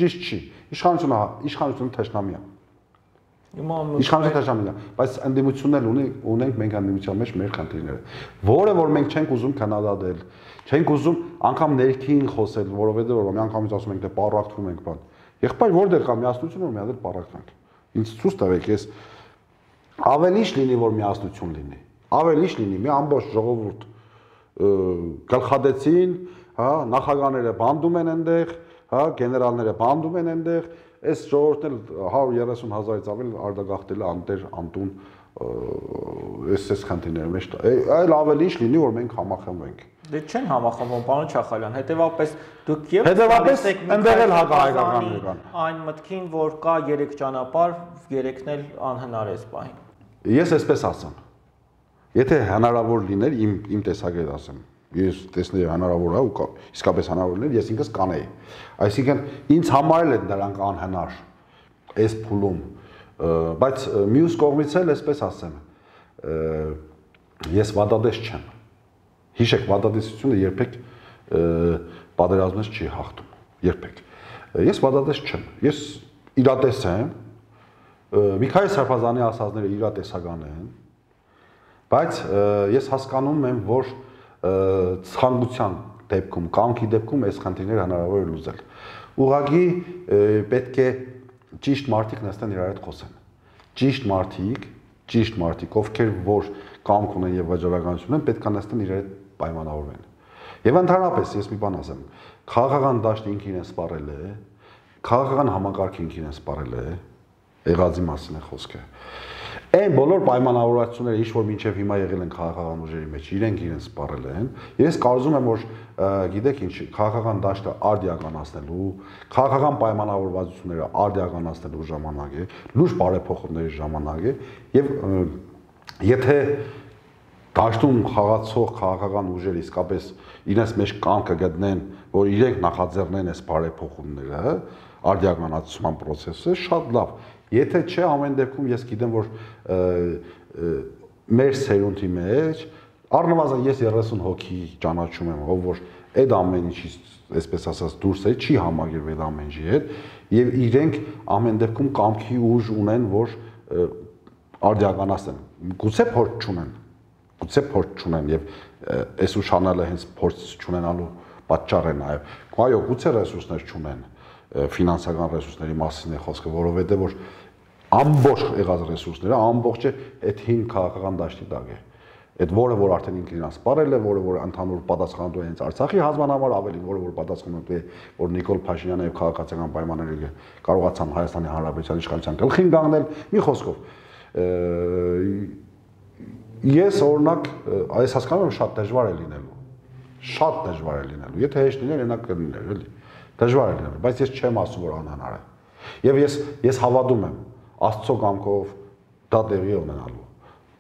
ճիշտ չի իշխանությունը թշնամի է Իշխանությունը թշնամի է, բայց ընդդիմությունն էլ ունենք մենք ընդդիմության մեջ մեր խնդիրները, որը որ մենք չենք ուզում քննադատել, չենք ուզում անգամ ներքին խոսել, որովհետեւ որ մի անգամից ասում ենք դե պարակվում ենք բան։ Եղբայր որտեղ կա միասնություն որ մի հատ պարակվենք։ Ինձ ցույց տվեք ես ավելի ինչ լինի որ միասնություն լինի։ Ավելի ինչ լինի մի ամբողջ ժողովուրդ գլխադեցին, հա, նախագահները բանդում են այնտեղ, հա, գեներալները բանդում են այնտեղ Այս ժողովուրդն էլ 130,000-ից ավել արտագաղթել է անտեր անտուն այս խնդիրների մեջ այլ ավելի ինչ լինի որ մենք համախմբենք Դե չեն համախմբում պարոն Չախալյան հետեւապես դուք եւ հետեւապես այնտեղ էլ հակահայկականներ կան այն մտքին որ կա 3 ճանապարհ երեքն էլ անհնար է սպահին Ես այսպես ասեմ եթե հնարավոր լիներ իմ տեսակետից ասեմ Ես տեսնեի հնարավոր է ու իսկապես հնարավոր լիներ, ես ինքս կանեի։ Այսինքն ինձ համար էլ են դրանք անհնար այս փուլում, բայց մյուս կողմից էլ այսպես ասեմ, ես վատադես չեմ։ Հիշեք, վատադեսությունը երբեք պատերազմից չի հաղթում, երբեք։ Ես վատադես չեմ։ Ես իրատես եմ։ Միքայել Սարփազյանի ասածները իրատեսական են, բայց ես հասկանում եմ, որ ցանկության դեպքում, կամքի դեպքում այս խնդիրները հնարավոր է լուծել։ Ուղղակի պետք է ճիշտ մարդիկ նստեն իրար հետ խոսեն։ Ճիշտ մարդիկ, ովքեր որ կամք ունեն եւ վաճառականություն են, պետք է նստեն իրար հետ պայմանավորվեն։ Եվ ընդհանրապես ես մի բան ասեմ, քաղաքական դաշտը ինքն իրեն սպառել է, քաղաքական համակարգը ինքն իրեն սպառել է, եղածի մասին է խոսքը։ Այն բոլոր պայմանավորվածությունները, ինչ որ մինչև հիմա եղել են քաղաքական ուժերի մեջ, իրենք սպառել են։ Ես կարծում եմ, որ գիտեք ինչ, քաղաքական դաշտը արդիականացնելու, քաղաքական պայմանավորվածությունները արդիականացնելու ժամանակ է, լուրջ բարեփոխումների ժամանակ է, եւ եթե դաշտում խաղացող քաղաքական ուժերը իսկապես իրենց մեջ կամքը գտնեն, որ իրենք նախաձեռնեն այս բարեփոխումները, արդիականացման process-ը, շատ լավ Եթե չէ, ամեն դեպքում ես գիտեմ, որ մեր սերունդի մեջ առնվազն ես 30 հոգի ճանաչում եմ, ով որ այդ ամեն ինչից, այսպես ասած, դուրս է, չի համագիրվել ամեն ինչի հետ, եւ իրենք ամեն դեպքում կամքի ուժ ունեն, որ արդիականացնեն։ Գուցե փորձ չունեն եւ այս ուշանալը հենց փորձ չունենալու պատճառ է նաեւ։ Այո, գուցե ռեսուրսներ չունեն ֆինանսական ռեսուրսների մասին է խոսքը, որովհետեւ որ ամբողջ եղած ռեսուրսները ամբողջը այդ հին քաղաքական դաշտի տակ է։ Այդ որը որ արդեն ինքն իրան սպառել է, որը որ ընդհանուր պատասխանատու է հենց Արցախի հանձնանամար, ավելի որը որ պատասխանատու է, որ Նիկոլ Փաշինյանը եւ քաղաքացիական պայմանները կարողացան Հայաստանի Հանրապետության իշխանության գլխին կանգնել, մի խոսքով։ Ես օրինակ այս հասկանում եմ շատ դժվար է լինելու։ Շատ դժվար է լինելու։ Եթե հեշտ լիներ, այնա կլիներ, էլի։ Դժվար է լինելու, բայց ես չեմ ասում որ անհնար է։ Եվ ես հավատում եմ, Աստծո կամքով դա տեղի ունենալու։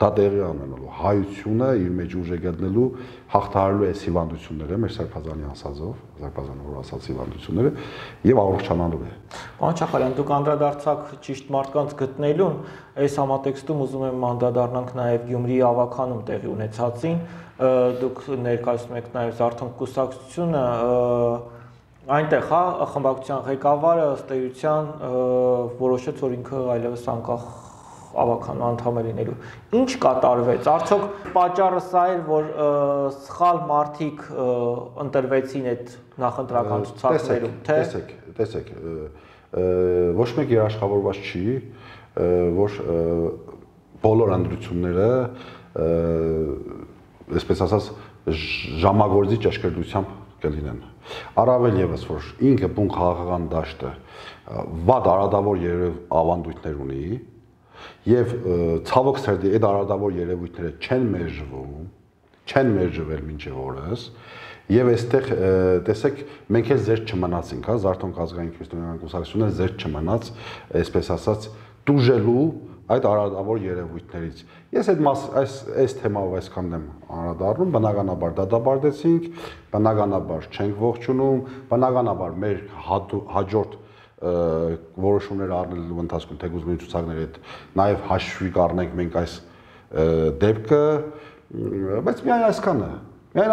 Դա տեղի ունենալու հայությունը իր մեջ ուժ է գտնելու հաղթահարելու այս հիվանդությունները, մեր Սարփազանի ասածով, Սարփազանը որ ասած հիվանդությունները եւ առողջանալու է։ Պարոն Չախալյան, դուք անդրադարձաք ճիշտ մարդկանց գտնելուն, այս համատեքստում ուզում եմ անդրադառնանք նաեւ Գյումրիի ավականում տեղի ունեցածին, դուք ներկայացնում եք նաեւ Զարթոնք կուսակցությունը, այնտեղ հա խմբակցության ղեկավարը ըստ էության որոշեց, որ ինքը այլևս անկախ ավականու անդամ է լինելու։ Ինչ կատարվեց։ Արդյոք պատճառը սա էր, որ սխալ մարդիկ ընտրվեցին այդ նախընտրական ցուցակներում, թե տեսեք, ոչ մեկ երաշխավորված չի, որ բոլոր ընտրությունները, այսպես ասած, ժամագործի ճշգրտությամբ կլինեն։ Առավել եւս, որ ինքը բուն քաղաքական դաշտը վատ արադավոր ավանդույթներ ունի, եւ ցավոք սերդի այդ արադավոր երևույթները չեն մերժվել մինչև օրս եւ այստեղ տեսեք մենք էլ զերծ չմնացինք, հա, Զարթոնք ազգային քրիստոնեական կուսակցությունը զերծ չմնաց, այսպես ասած, դուժելու այդ արադավոր երևույթներից։ Ես այս թեմայով այսքան եմ անդրադառնում, բնականաբար դատապարտեցինք, բնականաբար չենք ողջունում, բնականաբար մեր հաջորդ որոշումներ առնելու ընթացքում թեկուզ նույն ցուցակների հետ նաև հաշվի կառնենք մենք այս դեպքը, բայց միայն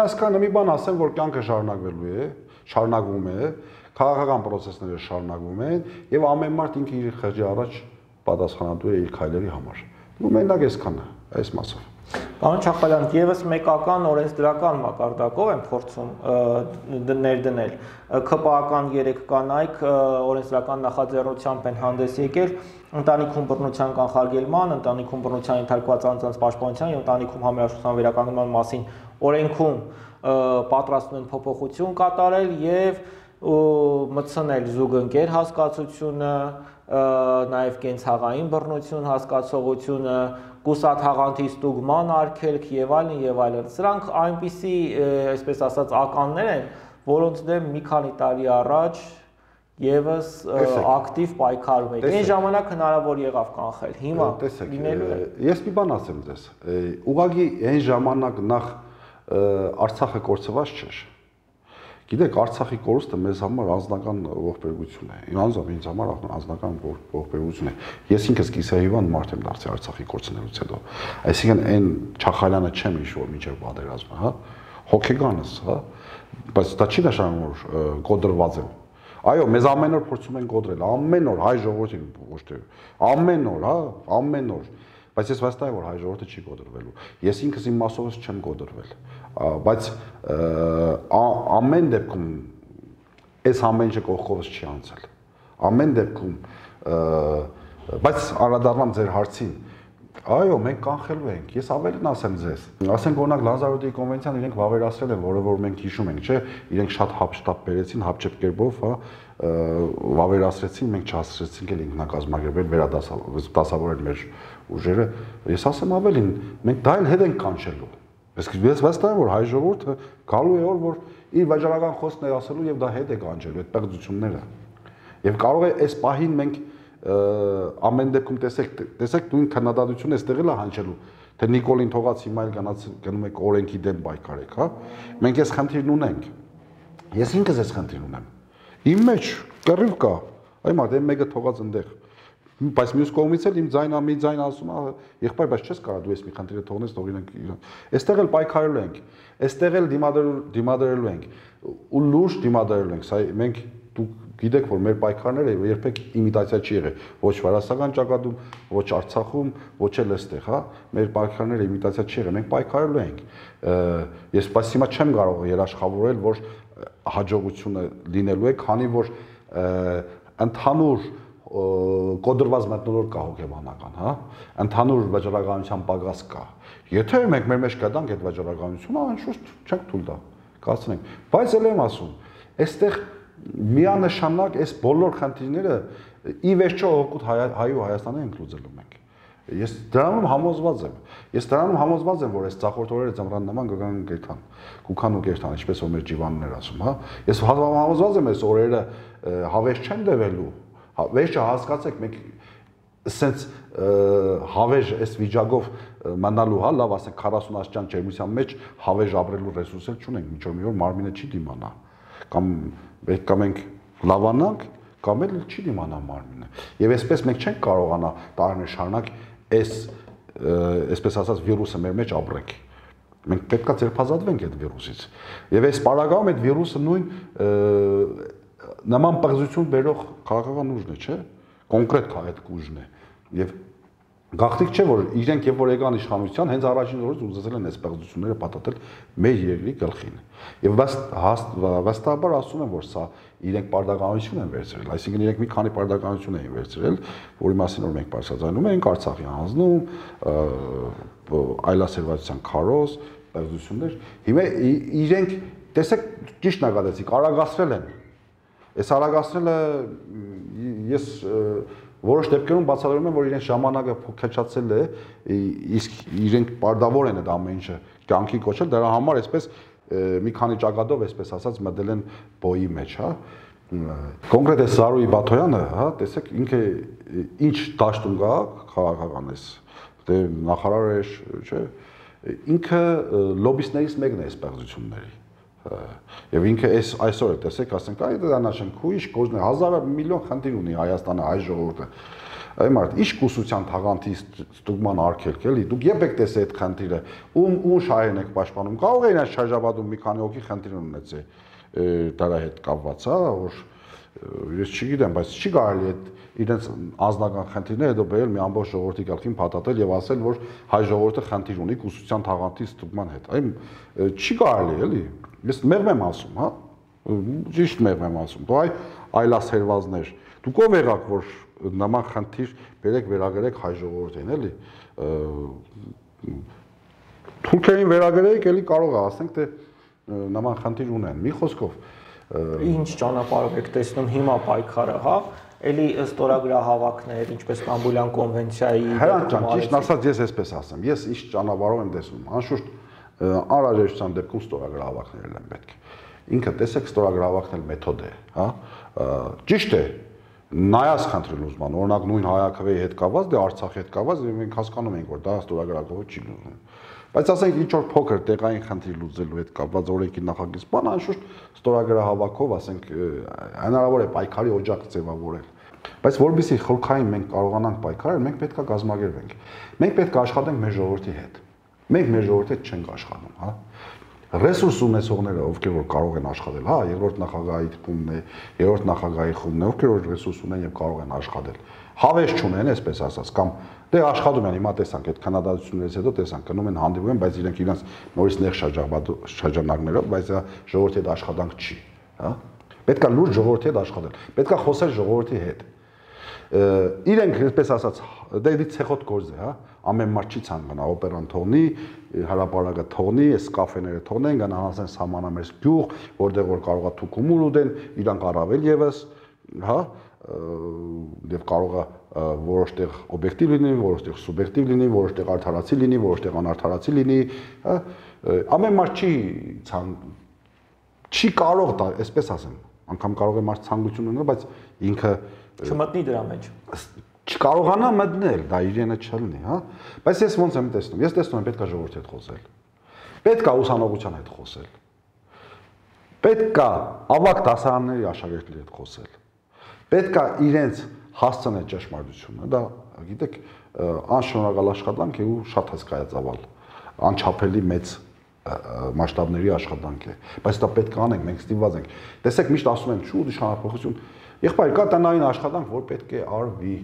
այսքանը մի բան ասեմ, որ կյանքը շարունակվում է, քաղաքական process-ները շարունակվում են եւ ամեն մարդ ինքը իր խղճի առաջ պատասխանատու է իր քայլերի համար։ Ու մենակ այսքանը, այս մասով։ Պարոն Չախալյան, եւս մեկական օրենսդրական մակարդակով են փորձում ներդնել։ ՔՊԱ-ական 3 կանայք օրենսդրական նախաձեռնությամբ են հանդես եկել ընտանիքում բռնության կանխարգելման, ընտանիքում բռնության ենթարկված անձանց պաշտպանության եւ ընտանիքում համերաշխության վերականգնման մասին օրենքում պատրաստում են փոփոխություն կատարել եւ մտցնել զուգընկեր հասկացությունը, նաեւ կենցաղային բռնություն հասկացողությունը, կուսաթաղանթի ստուգման արգելք եւ այլն եւ այլն։ Սրանք այնպիսի, այսպես ասած, ականներ են, որոնց դեմ մի քանի տարի առաջ եւս ակտիվ պայքարում եք։ Այն ժամանակ հնարավոր եղավ կանխել։ Հիմա լինելու է։ Ես մի բան ասեմ ձեզ։ Ուղղակի այն ժամանակ նախ Արցախը կորցված չէր։ Գիտեք, Արցախի կորուստը մեզ համար անձնական ողբերգություն է։ Ինձ համար անձնական ողբերգություն է։ Ես ինքս կիսահիվանդ մարդ եմ դարձել Արցախի կորցնելուց հետո։ Այսինքն այն Չախալյանը չեմ ինչ-որ միջև պատերազմը, հա, հոգեկանս, հա, բայց դա չի նշանակում, որ կոդրված եմ։ Այո, մեզ ամեն օր փորձում են կոդրել, ամեն օր հայ ժողովրդին ոչ թե ամեն օր, հա, ամեն օր։ Բայց ես վստահ եմ, որ հայ ժողովուրդը չի կոդրվելու։ Ես ինքս իմ մասովս չեմ կոդրվել, բայց ամեն դեպքում այս ամեն ինչը կողքովս չի անցել։ Ամեն դեպքում, բայց անդրադառնամ ձեր հարցին, այո, մենք կանխելու ենք։ Ես ավելին ասեմ ձեզ։ Ասենք օրինակ Լազարոտի կոնվենցիան իրենք վավերացրել են, որը որ մենք հիշում ենք, չէ՞, իրենք շատ հապշտապ բերեցին, հապճեպ կերպով, հա, վավերացրեցին, մենք չհասցրեցինք էլ ինքնակազմակերպել, վերադասավորել մեր ուժերը։ Ես ասեմ ավելին, մենք դա էլ հետ ենք կանչելու։ Ես վստահ եմ, որ հայ ժողովուրդը գալու է օր, որ իր վաճառական խոսքն է ասելու եւ դա հետ է կանչելու այդ պեղծությունները։ Եվ կարող է այս պահին մենք ամեն դեպքում տեսեք նույն քննադատությունը այստեղ էլ է հնչելու, թե Նիկոլին թողած հիմա էլ գնում եք օրենքի դեմ պայքարեք, հա։ Մենք այս խնդիրն ունենք։ Ես ինքս այս խնդիրն ունեմ։ Իմ մեջ կռիվ կա, այ մարդ այն մեկը թողած այնտեղ։ Բայց մյուս կողմից էլ իմ ձայն ասում է, եղբայր, բայց չես կարող դու այս մի խնդիրը թողնես, թող իրենք։ Այստեղ էլ պայքարելու ենք, այստեղ էլ դիմադրելու ենք, ու լուրջ դիմադրելու ենք։ Սա մենք դուք գիտեք, որ մեր պայքարները երբեք իմիտացիա չի եղել, ոչ վարասական ճակատում, ոչ Արցախում, ոչ էլ այստեղ, հա։ Մեր պայքարները իմիտացիա չի եղել, մենք պայքարելու ենք։ Ես բայց հիմա չեմ կարող երաշխավորել, որ հաջողությունը լինելու է, քանի որ ընդհանուր կոդրված մթնոլորտ կա հոգեբանական, հա, ընդհանուր վաճառականության պակաս կա։ Եթե մենք մեր մեջ կդանք այդ վաճառականությունը, անշուշտ չենք թույլ տա, կացնենք։ Բայց ել եմ ասում, այստեղ միանշանակ այս բոլոր խնդիրները ի վերջո օգուտ հայ ու Հայաստանի ենք լուծելու մենք։ Ես դրանում համոզված եմ։ Ես դրանում համոզված եմ, որ այս ծախորդ օրերը ծմրան նման կգան կերթան, կուքան ու կերթան, ինչպես որ մեր ջիվաններ ասում, հա։ Ես համոզված եմ այս օրերը հավես չեն դևելու, Վերջը հասկացեք, մենք ասենց հավեժ այս վիճակով մնալու, հա, լավ ասենք 40 աստիճան ջերմության մեջ հավեժ ապրելու ռեսուրս էլ չունենք, միջով մի օր մարմինը չի դիմանա, կամ պետք է մենք լավանանք, կամ էլ չի դիմանա մարմինը։ Եվ այսպես մենք չենք կարողանա տարիներ շարունակ այսպես ասած վիրուսը մեր մեջ ապրենք։ Մենք պետք է ձերբազատվենք այդ վիրուսից։ Եվ այս պարագայում այդ վիրուսը նույն նման պղծություն բերող քաղաքական ուժն է, չէ՞։ Կոնկրետ այդ ուժն է։ Եվ գաղտնիք չէ, որ իրենք եւ որ եկան իշխանության, հենց առաջին օրից ուզեցել են այս պղծությունները պատատել մեր երկրի գլխին։ Եվ վստահաբար ասում են, որ սա իրենք պարտականություն են վերցրել, այսինքն իրենք մի քանի պարտականություն էին վերցրել, որի մասին որ մենք բարձրացնում ենք Արցախի հանձնում, այլասերվածության քարոզ, պղծություններ։ Հիմա իրենք տեսեք ճիշտ նկատեցիք, արագացրել են։ Այս արագացնելը ես որոշ դեպքերում բացատրում եմ, որ իրենց ժամանակը փոքրացել է, իսկ իրենք պարտավոր են այդ ամեն ինչը կյանքի կոչել, դրա համար այսպես մի քանի ճակատով այսպես ասած մտել են բոյի մեջ, հա։ Կոնկրետ է Զարուհի Բաթոյանը, հա, տեսեք ինքը ինչ դաշտում գա քաղաքական էս, դե նախարար է, չէ, ինքը լոբիստներից մեկն է այս պղծությունների։ Եվ ինքը այսօր է տեսեք, ասենք, այ դա նաշենք, ու ինչ կոզն է, 1000 միլիոն խնդիր ունի Հայաստանը, հայ ժողովուրդը։ Այ մարդ, ինչ կուսության թաղանթի ստուգման արգելք էլի, դուք երբ եք տեսել այդ խնդիրը, ում շահերն եք պաշտպանում, կարող է իրենց շարժաբադում մի քանի հոգի խնդիր ունեցել դրա հետ կապված, հա, որ ես չգիտեմ, բայց չի կարելի այդ իրենց անձնական խնդիրները հետո բերել մի ամբողջ ժողովրդի գլխին փաթաթել եւ ասել, որ հայ ժողովուրդը խնդիր ունի կուսության թաղանթի ստուգման հետ։ Այ չի կարելի, էլի։ Ես մեղմ եմ ասում, հա։ Ճիշտ մեղմ եմ ասում։ Դու այլասերվածներ, դուք ով եղաք, որ նման խնդիր բերեք վերագրեք հայ ժողովրդին, էլի։ Թուրքերին վերագրեք, էլի կարող է ասենք, թե նման խնդիր ունեն։ Մի խոսքով ինչ ճանապարհով եք տեսնում հիմա պայքարը, հա, էլի ստորագրահավաքներ, ինչպես Ստամբուլյան կոնվենցիայի Հրանտ, ճիշտ ասած ես այսպես ասեմ, ես ինչ ճանապարհով եմ տեսնում, անշուշտ անհրաժեշտության դեպքում ստորագրահավաքներ են պետք։ Ինքը տեսեք ստորագրահավաքն էլ մեթոդ է, հա, ճիշտ է, նայած խնդրել ուզման, օրինակ նույն Հայաքվեի հետ կապված, դե Արցախի հետ կապված, մենք հասկանում ենք, որ դա ստորագրահավաքով չի լուծվում։ Բայց ասենք ինչ որ փոքր տեղային խնդիր լուծելու հետ կապված օրենքի նախագիծ բան, անշուշտ ստորագրահավաքով, ասենք, հնարավոր է պայքարի օջակ ձևավորել։ Բայց որովհետեւ խորքային մենք կարողանանք պայքարել, մենք պետք է կազմակերպենք։ Մենք պետք է աշխատենք մեր ժողովրդի հետ։ Մենք մեր ժողովրդի հետ չենք աշխատում, հա։ Ռեսուրս ունեցողները, ովքեր որ կարող են աշխատել, հա, երրորդ նախագահի թիմն է, երրորդ նախագահի խումբն է, ովքեր որ ռեսուրս ունեն եւ կարող են աշխատել։ Հավես չունեն, այսպես ասած, կամ դե աշխատում են, հիմա տեսանք այդ քննադատություններից հետո տեսանք, գնում են հանդիպում են, բայց իրենք իրենց նորից նեղ շրջանակներով, բայց ժողովրդի հետ աշխատանք չի, հա։ Պետք է լուրջ ժողովրդի հետ աշխատել, պետք է խոսել ժողովրդի հետ։ Իրենք, այսպես ասած, դե ցեխոտ գործ է, հա, ամեն մարդ չի ցանկանա օպերան թողնի, հրապարակը թողնի, այս կաֆեները թողնեն, գնան հասեն սահմանամերձ գյուղ, որտեղ որ կարող է թուքումուլ ուտեն, իրանք առավել եւս, հա, եւ կարող է որոշ տեղ օբյեկտիվ լինի, որոշ տեղ սուբյեկտիվ լինի, որոշ տեղ արդարացի լինի, որոշ տեղ անարդարացի լինի, հա, ամեն մարդ չի կարող դա, այսպես ասեմ, անգամ կարող է մարդ ցանկություն ունենալ, բայց ինքը չմտնի դրա մեջ։ Չկարողանա մտնել, դա իրենը չլինի, հա։ Բայց ես ոնց եմ տեսնում։ Ես տեսնում եմ պետք է ժողովրդի հետ խոսել։ Պետք է ուսանողության հետ խոսել։ Պետք է ավագ դասարանների աշակերտների հետ խոսել։ Պետք է իրենց հասցնել ճշմարտությունը, դա գիտեք, անշնորհակալ աշխատանք է ու շատ հսկայածավալ, անչափելի մեծ մասշտաբների աշխատանք է, բայց դա պետք է անենք, մենք ստիպված ենք։ Տեսեք, միշտ ասում են, շուտ իշխանափոխություն, եղբայր, կա տնային աշխատանք, որ պետք է արվի։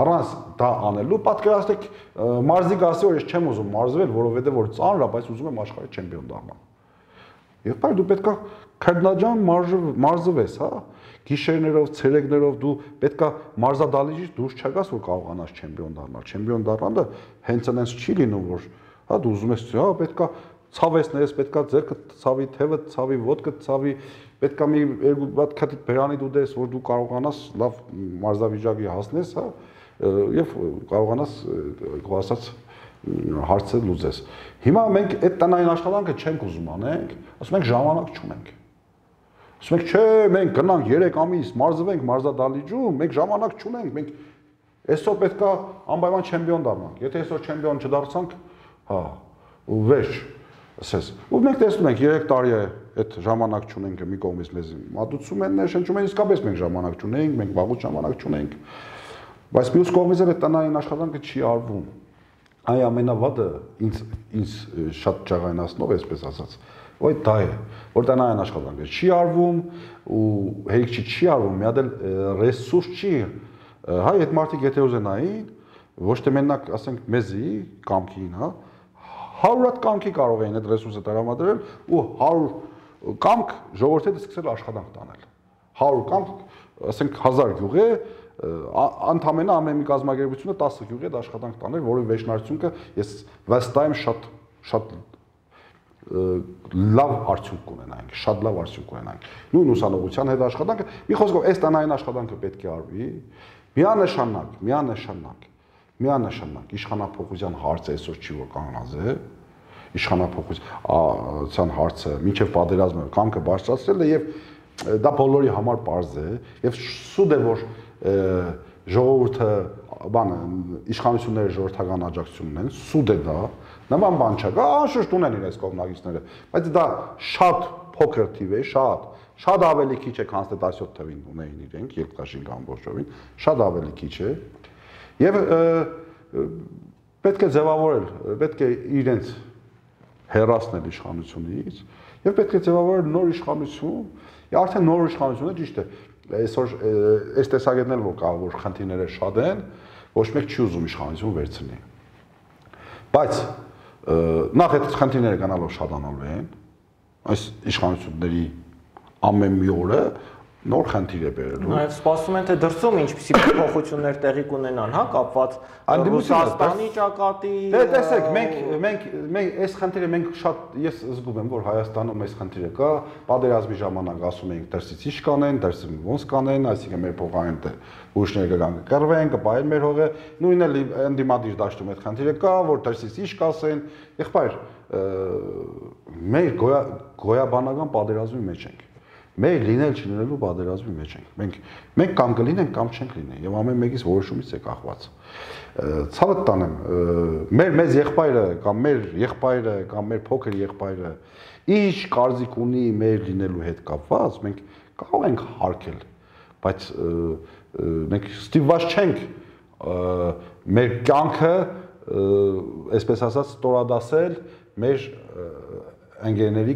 Առանց դա անելու պատկերացրեք մարզիկ ասի, որ ես չեմ ուզում մարզվել, որովհետև որ ծանր է, բայց ուզում եմ աշխարհի չեմպիոն դառնալ։ Եղբայր, դու պետք է քրտնաջան մարզվես, հա։ Գիշերներով, ցերեկներով դու պետք է մարզադահլիճից դուրս չգաս, որ կարողանաս չեմպիոն դառնալ։ Չեմպիոն դառնալը հենց այնպես չի լինում, որ հա դու ուզում ես, հա, պետք է ցավեսներես, պետք է ձեռքը ցավի, թևը ցավի, ոտքը ցավի, պետք է մի երկու բաթ քաթի բերանի դու դես, որ դու կարողանաս լավ մարզավիճակի հասնես, հա, եւ կարողանաս ասած հարցը լուծես։ Հիմա մենք այդ տնային աշխատանքը չենք ուզում անենք, ասում ենք ժամանակ չունենք։ Ասում ենք, չէ, մենք գնանք 3 ամիս, մարզվենք մարզադահլիճում, մենք ժամանակ չունենք, մենք այսօր պետք է անպայման չեմպիոն դառնանք։ Եթե այսօր չեմպիոն չդարձանք, հա, ու վերջ, ասես։ Ու մենք տեսնում ենք 3 տարի է այդ ժամանակ չունենք մի կողմից մեզ մատուցում են, ներշնչում են, իսկապես մենք ժամանակ չունենք, մենք վաղուց ժամանակ չունենք։ Բայց մյուս կողմից էլ տնային աշխատանքը չի արվում։ Այ ամենավատը ինձ շատ ջաղայնացնող, այսպես ասած, ոյ դա է, որ տնային աշխատանքը չի արվում ու հերիք չի արվում, մի հատ էլ ռեսուրս չի, հայ այդ մարդիկ եթե ուզենային, ոչ թե մենակ ասենք մեզի կամքին, հա, 100 հատ կամքի կարող էին այդ ռեսուրսը տրամադրել ու 100 կամք ժողովրդի հետ սկսել աշխատանք տանել։ 100 կամք, ասենք 1000 գյուղ է, ընդամենը ամեն մի կազմակերպությունը 10 գյուղի հետ աշխատանք տանել, որի վերջնարդյունքը ես վստահ եմ շատ լավ արդյունք կունենայինք, շատ լավ արդյունք կունենայինք։ Նույն ուսանողության հետ աշխատանքը, մի խոսքով, այս տնային աշխատանքը պետք է արվի, միանշանակ իշխանափոխության հարցը այսօր չի որ կանգնած է, իշխանափոխության հարցը մինչև պատերազմը կամքը բարձրացրել է եւ դա բոլորի համար պարզ է եւ սուտ է որ ժողովուրդը բանը իշխանությունները ժողովրդական աջակցություն ունեն, սուտ է դա, նման բան չկա, անշուշտ ունեն իրենց կողմնակիցները, բայց դա շատ փոքր թիվ է, շատ ավելի քիչ է, քան 17 թվին ունեին իրենք, երբ կաշին ամբողջովին, շատ ավելի քիչ է եւ պետք է ձևավորել, պետք է իրենց հեռացնել իշխանությունից եւ պետք է ձևավորել նոր իշխանություն, արդեն նոր իշխանությունը ճիշտ է այսօր այս տեսակետն էլ որ կա որ խնդիրները շատ են, ոչ մեկ չի ուզում իշխանություն վերցնի։ Բայց նախ այդ խնդիրները գնալով շատանալու են, այս իշխանությունների ամեն մի օրը նոր խնդիր է բերելու։ Նաև սպասում են թե դրսում ինչպիսի փոփոխություններ տեղի կունենան, հա, կապված Ռուսաստանի ճակատի։ Դե տեսեք, մենք այս խնդիրը մենք շատ ես զգում եմ, որ Հայաստանում այս խնդիրը կա, պատերազմի ժամանակ ասում էինք դրսից ինչ կանեն, դրսից ոնց կանեն, այսինքն մեր փոխարեն ուժները կգան կկռվեն, կպայեն մեր հողը, նույնն էլ ընդդիմադիր դաշտում այդ խնդիրը կա, որ դրսից ինչ կասեն, եղբայր, մեր գոյաբանական պատերազմի մեջ ենք։ Մեր լինել չլինելու պատերազմի մեջ ենք։ Մենք կամ կլինենք կամ չենք լինի եւ ամեն մեկից որոշումից է կախված։ Ցավը տանեմ, մեծ եղբայրը կամ մեր եղբայրը կամ մեր փոքր եղբայրը ինչ կարծիք ունի մեր լինելու հետ կապված, մենք կարող ենք հարգել, բայց մենք ստիպված չենք մեր կյանքը, այսպես ասած, ստորադասել մեր ընկերների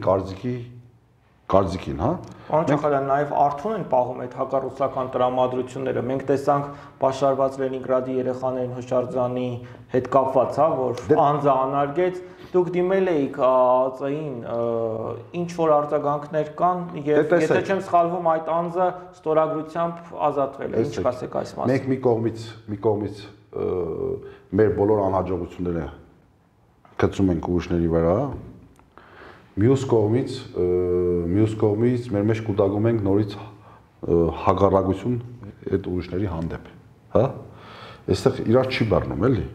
կարծիքին, հա։ Պարոն Չախալյան, նաև արթուն են պահում այդ հակառուսական տրամադրությունները։ Մենք տեսանք պաշարված Լենինգրադի երեխաներին հուշարձանի հետ կապված, հա, որ անձը անարգեց, դուք դիմել էիք ԱԱԾ-ին, ինչ որ արձագանքներ կան, եւ եթե չեմ սխալվում, այդ անձը ստորագրությամբ ազատվել է։ Ինչ կասեք այս մասին։ Մենք մի կողմից մեր բոլոր անհաջողությունները գցում ենք ուժների վրա, մյուս կողմից մեր մեջ կուտակում ենք նորից հակառակություն այդ ուժների հանդեպ, հա։ Այստեղ իրար չի բռնում, էլի։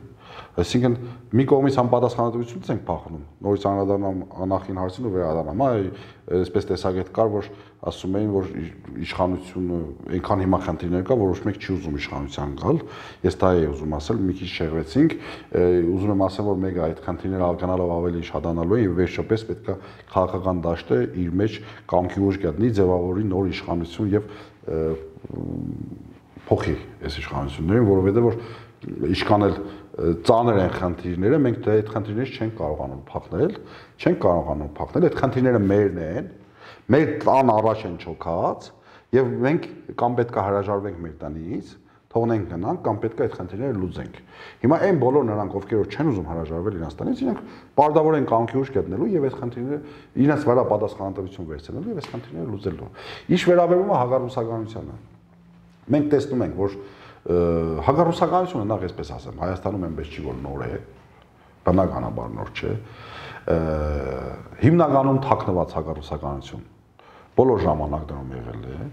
Այսինքն մի կողմից անպատասխանատվություն ենք փախնում, նորից անդրադառնամ նախին հարցին ու վերադառնամ, այ այսպես տեսակետ կար, որ ասում էին, որ իշխանությունը այնքան հիմա խնդիրներ կա, որ ոչ մեկ չի ուզում իշխանության գալ։ Ես դա էի ուզում ասել, մի քիչ շեղվեցինք, ուզում եմ ասել, որ մեկը այդ խնդիրները գնալով ավելի շատանալու են եւ վերջապես պետք է քաղաքական դաշտը իր մեջ կամքի ուժ գտնի, ձևավորի նոր իշխանություն եւ փոխի այս իշխանություններին, որովհետեւ որ ինչքան էլ ծանր են խնդիրները, մենք այդ խնդիրներից չենք կարողանում փախնել, այդ խնդիրները մերն են, մեր տան առաջ են չոքած եւ մենք կամ պետք է հրաժարվենք մեր տնից, թողնենք գնանք կամ պետք է այդ խնդիրները լուծենք։ Հիմա այն բոլոր նրանք, ովքեր չեն ուզում հրաժարվել իրենց տնից, իրենք պարտավոր են կամքի ուժ գտնելու եւ այդ խնդիրները իրենց վրա պատասխանատվություն վերցնելու եւ այդ խնդիրները լուծելու։ Ինչ վերաբերում է հակառուսականությանը, մենք տեսնում ենք, որ հակառուսականությունը նախ այսպես ասեմ, Հայաստանում այնպես չի որ նոր է, բնականաբար նոր չէ, հիմնականում թաքնված հակառուսականություն բոլոր ժամանակներում եղել է,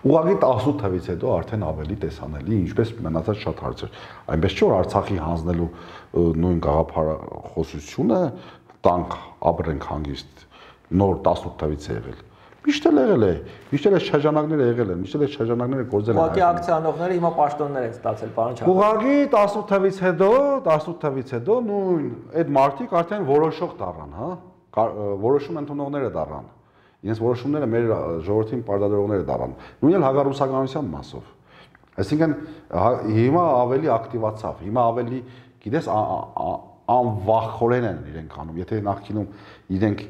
ուղղակի 18 թվից հետո արդեն ավելի տեսանելի, ինչպես մնացած շատ հարցեր, այնպես չէ որ Արցախի հանձնելու նույն գաղափարախոսությունը տանք ապրենք հանգիստ նոր 18 թվից է եղել, Միշտ էլ եղել է, միշտ էլ շրջանակները եղել են, միշտ էլ շրջանակները գործել են։ Ուղղակի ակցիանողները հիմա պաշտոններ են ստացել, պարոն Չախոյանի։ Ուղղակի 18 թվից հետո նույն այդ մարտիկ արդեն որոշող դառան, հա, որոշում ընդունողները դառան։ Իրենց որոշումները մեր ժողովրդին պարտադրողները դառան։ Նույնն էլ հակառուսականության մասով։ Այսինքն հիմա ավելի ակտիվացավ, հիմա ավելի, գիտես, անվախորեն են իրենք անում, եթե նախկինում իրենք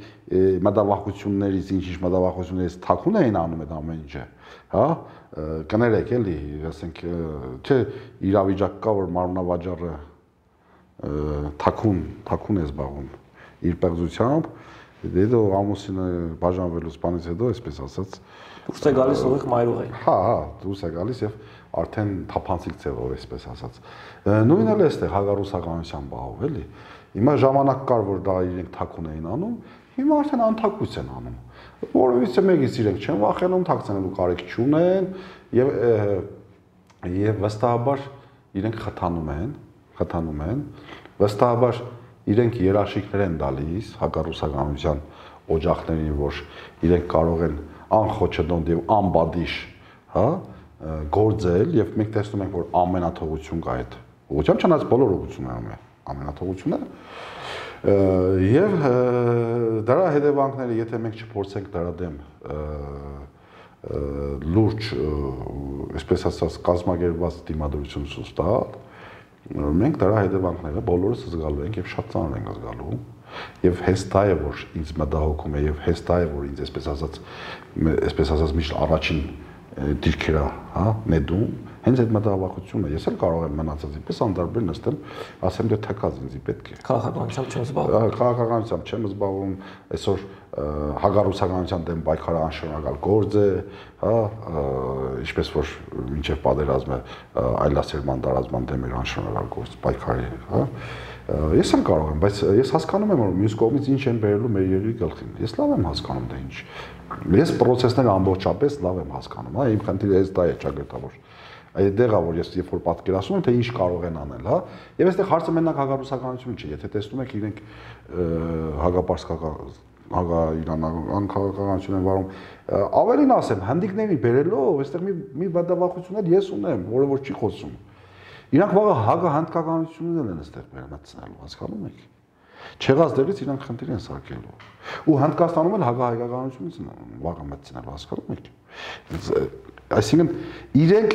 մտավախություններից, ինչ-ինչ մտավախություններից թաքուն էին անում այդ ամեն ինչը, հա, կներեք էլի, ասենք, չէ, իրավիճակ կա, որ մարմնավաճառը թաքուն է զբաղվում իր պեղծությամբ, դե ամուսինը բաժանվելուց բանից հետո, այսպես ասած, դուրս է գալիս ուղիղ մայրուղի։ Հա, դուրս է գալիս եւ արդեն թափանցիկ ձևով, այսպես ասած։ Նույնն էլ է այստեղ հակառուսականության բաղով, էլի։ Հիմա ժամանակ կար, որ դա իրենք թաքուն էին անում, հիմա արդեն անթաքույց են անում։ Որովհետեւ մեկից իրենք չեն վախենում, թաքցնելու կարիք չունեն եւ վստահաբար իրենք խթանում են, վստահաբար իրենք երաշխիքներ են տալիս հակառուսականության օջախներին, որ իրենք կարող են անխոչդոնտ եւ անբադիշ, հա, գործել եւ մենք տեսնում ենք, որ ամենաթողություն կա այդ ուղղությամբ, չնայած բոլոր ուղղություններում է ամենաթողությունը եւ դրա հետևանքները, եթե մենք չփորձենք դրա դեմ լուրջ, այսպես ասած, կազմակերպված դիմադրություն ցույց տալ, մենք դրա հետևանքները բոլորս զգալու ենք եւ շատ ծանր ենք զգալու եւ հեստ է որ ինձ մտահոգում է եւ հեստ է որ ինձ այսպես ասած միշտ առաջին դիրքերա, հա, նետում, հենց այդ մտահոգությունը ես էլ կարող եմ մնացածի պես անդարբեր նստել, ասեմ դե թքած ինձի պետք է։ Քաղաքականությամբ չեմ զբաղվում։ Քաղաքականությամբ չեմ զբաղվում, այսօր հակառուսականության դեմ պայքարը անշարունակալ գործ է, հա, ինչպես որ մինչև պատերազմը այլասերման տարածման դեմ էր անշարունակալ գործ պայքարի, հա։ Ես էլ կարող եմ, բայց ես հասկանում եմ, որ մյուս կողմից ինչ են բերելու մեր երկրի գլխին։ Ես լավ եմ հասկանում դա ինչ։ Ես process-ները ամբողջապես լավ եմ հասկանում, հա, իմ խնդիրը դա է ճակատավոր։ Այդտեղ է, որ ես երբ որ պատկերացնում եմ, թե ինչ կարող են անել, հա։ Եվ այստեղ հարցը մենակ հակառուսականություն չի, եթե տեսնում եք իրենք հակաիրանական քաղաքականություն են վարում, ավելին ասեմ, հանդիկների բերելով, այստեղ մի բադավախություններ ես ունեմ, որը որ չի խոսում։ Իրանք վաղը հակահնդկականություններ են այստեղ մտցնելու, հասկանում եք։ Չեղած դերից իրանք խնդիր են սարքելու։ Ու Հնդկաստանում էլ հակահայկականությունից վաղը մտցնելու, հասկանում եք։ Այսինքն իրենք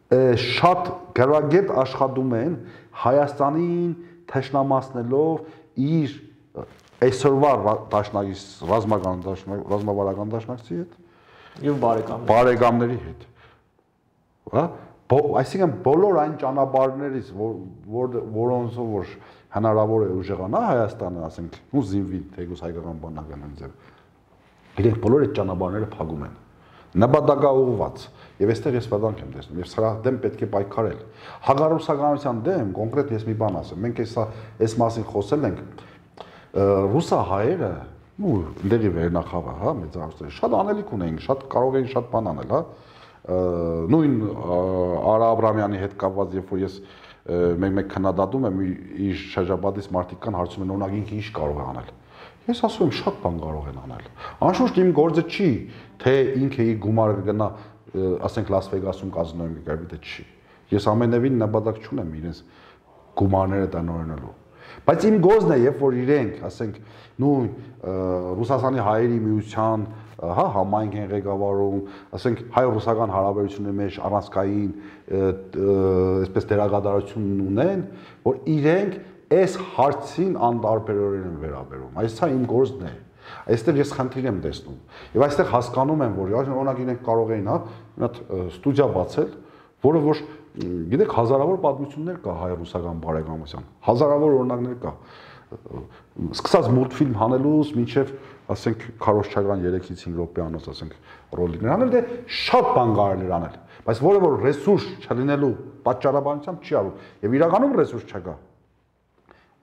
շատ գրագետ աշխատում են Հայաստանին թշնամացնելով իր այսօրվա դաշնակից ռազմավարական դաշնակցի հետ եւ բարեկամների հետ։ Հա, այսինքն բոլոր այն ճանապարհներից, որոնցով որ հնարավոր է ուժեղանա Հայաստանը, ասենք, ու զինվի թեկուզ հայկական բանակն ձև։ Իրենք բոլոր այդ ճանապարհները փակում են։ Նպատակաուղղված եւ այստեղ ես վտանգ եմ տեսնում եւ սրա դեմ պետք է պայքարել հակառուսականության դեմ կոնկրետ ես մի բան ասեմ մենք այս մասին խոսել ենք ռուսահայերը ու դերի վերնախավը հա մեծարուսները շատ անելիք ունեին շատ կարող էին շատ բան անել հա նույն Արա Աբրամյանի հետ կապված երբ որ ես մեկ քննադատում եմ իր շրջապատից մարդիկ կան հարցում են օրինակ ինքը ինչ կարող է անել Ես ասում եմ շատ բան կարող են անել։ Անշուշտ իմ գործը չի, թե ինքը իր գումարը կգնա, ասենք Լաս Վեգասում կազինոյում կգրվի, դա չի։ Ես ամենևին նպատակ չունեմ իրենց գումարները տնօրինելու։ Բայց իմ գործն է, երբ որ իրենք, ասենք, նույն Ռուսաստանի հայերի միության, հա, համայնք են ղեկավարում, ասենք հայ-ռուսական հարաբերությունների մեջ առանցքային, այսպես դերակատարություն ունեն, որ իրենք Այս հարցին անտարբերորեն են վերաբերում։ Այս իմ գործն է։ Այստեղ ես խնդիր եմ տեսնում։ Եվ այստեղ հասկանում եմ, որ օրինակ իրենք կարող էին, հա, մի հատ ստուդիա բացել, որը որ գիտեք հազարավոր պատմություններ կա հայ-ռուսական բարեկամության։ Հազարավոր օրինակներ կա։ Սկսած մուլտֆիլմ հանելուց մինչև, ասենք, Քարոշչարյան 3-ից 5 րոպեանոց, ասենք, ռոլիկներ անել, դե շատ բան կարելի է անել։ Բայց որը որ ռեսուրս չլինելու պատճառաբանությամբ չի արվում։ Եվ իրականում ռեսուրս չկա։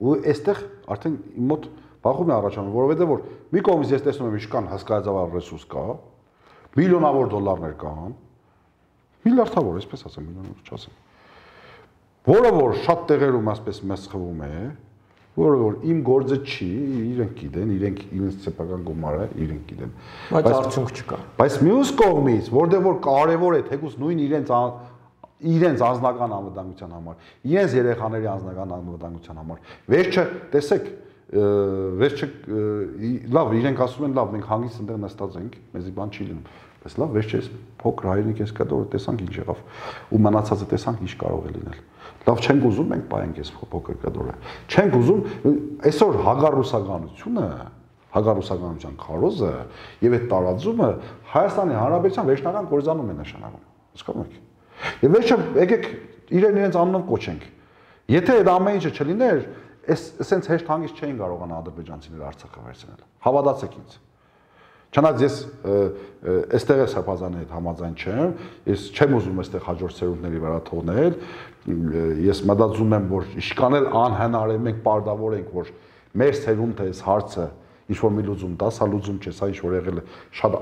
Ու այստեղ արդեն իմ մոտ բախում է առաջանում, որովհետև որ մի կողմից ես տեսնում եմ ինչքան հսկայածավալ ռեսուրս կա, միլիոնավոր դոլարներ կան, միլիարդավոր, այսպես ասեմ, միլիոնավոր չասեմ, որը որ շատ տեղերում ասպես մեծ խվում է, որը որ իմ գործը չի, իրենք գիտեն, իրենց սեփական գումարը իրենք գիտեն։ Բայց արդյունք չկա։ Բայց մյուս կողմից, որտեղ որ կարևոր է թեկուզ նույն իրենց անձնական անվտանգության համար, իրենց երեխաների անձնական անվտանգության համար։ Վերջը, տեսեք, վերջը լավ, իրենք ասում են, լավ, մենք հանգիստ այնտեղ նստած ենք, մեզի բան չի լինում։ Բայց լավ, վերջը էս փոքր հայրենիք էս կա, որ տեսանք ինչ եղավ, ու մնացածը տեսանք ինչ կարող է լինել։ Լավ չենք ուզում մենք պայենք այս փոքր կդորը։ Չենք ուզում այսօր հագարուսականության քարոզը եւ այդ տարածումը Հայաստանի Հանրապետության վերջնական կորզանում է նշանակում։ Հասկանում եք։ Եվ վերջը եկեք իրենց անունով կոչենք։ Եթե այդ ամեն ինչը չլիներ, այսենց հեշտ հանգիստ չէին կարողանա ադրբեջանցիները Արցախը վերցնել։ Հավատացեք ինձ։ Չնայած ես այստեղ է սրբազանի հետ համաձայն չեմ, ես չեմ ուզում այստեղ հաջորդ սերունդների վրա թողնել, ես մտածում եմ, որ իշքան էլ անհնար է, մենք պարտավոր ենք, որ մեր սերունդը այս հարցը ինչ-որ մի լուծում տա, սա լուծում չէ, սա ինչ-որ եղել է շատ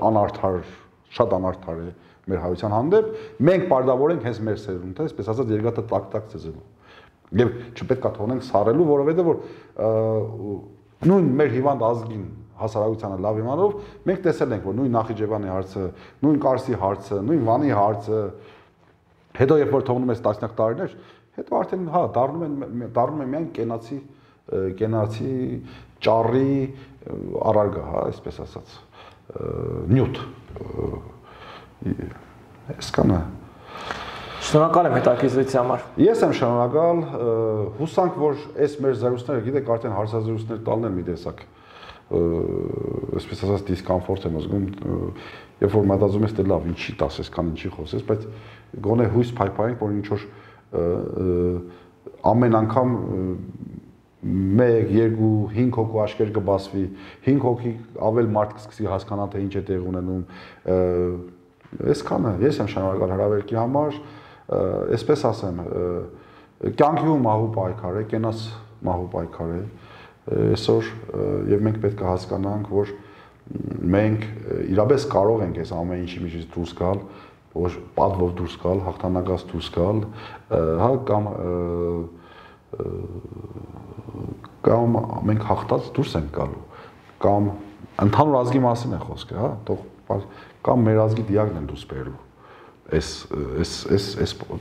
անարդար է մեր հայության հանդեպ, մենք պարտավոր ենք հենց մեր սերունդը, այսպես ասած երկաթը տակ-տակ ծեզելու։ Եվ չպետք է թողնենք սառելու, որովհետև որ նույն մեր հիվանդ ազգին հասարակությանը լավ իմանալով մենք տեսել ենք, որ նույն Նախիջևանի հարցը, նույն Կարսի հարցը, նույն Վանի հարցը, հետո երբ որ թողնում ես տասնյակ տարիներ, հետո արդեն հա դառնում է միայն կենացի ճառի առարգա, հա, այսպես ասած, նյութ։ Այսքանը։ Շնորհակալ եմ հետաքրքրության համար։ Ես եմ շնորհակալ, հուսանք, որ այս մեր զրույցները, գիտեք, արդեն հարցազրույցներ տալն են մի տեսակ այսպես ասած դիսկոմֆորտ եմ զգում, երբ որ մտածում ես, դե լավ, ինչի տաս, այսքան ինչի խոսես, բայց գոնե հույս փայփայենք, որ ինչ որ ամեն անգամ 1, 2, 5 հոգու աչքեր կբացվի, 5 հոգի ավել մարդ կսկսի հասկանալ, թե ինչ է տեղ ունենում, այսքանը, ես եմ շնորհակալ հրավերքի համար, այսպես ասեմ, կյանքի ու մահու պայքար է, կենաց մահու պայքար է, այսօր եւ մենք պետք է հասկանանք, որ մենք իրապես կարող ենք այս ամեն ինչի միջից դուրս գալ, որ պատվով դուրս գալ, հաղթանակած դուրս գալ, հա կամ մենք հաղթած դուրս ենք գալու, կամ ընդհանուր ազգի մասին է խոսքը, հա, թող կամ մեր ազգի դիակն են դուրս բերելու։ Այս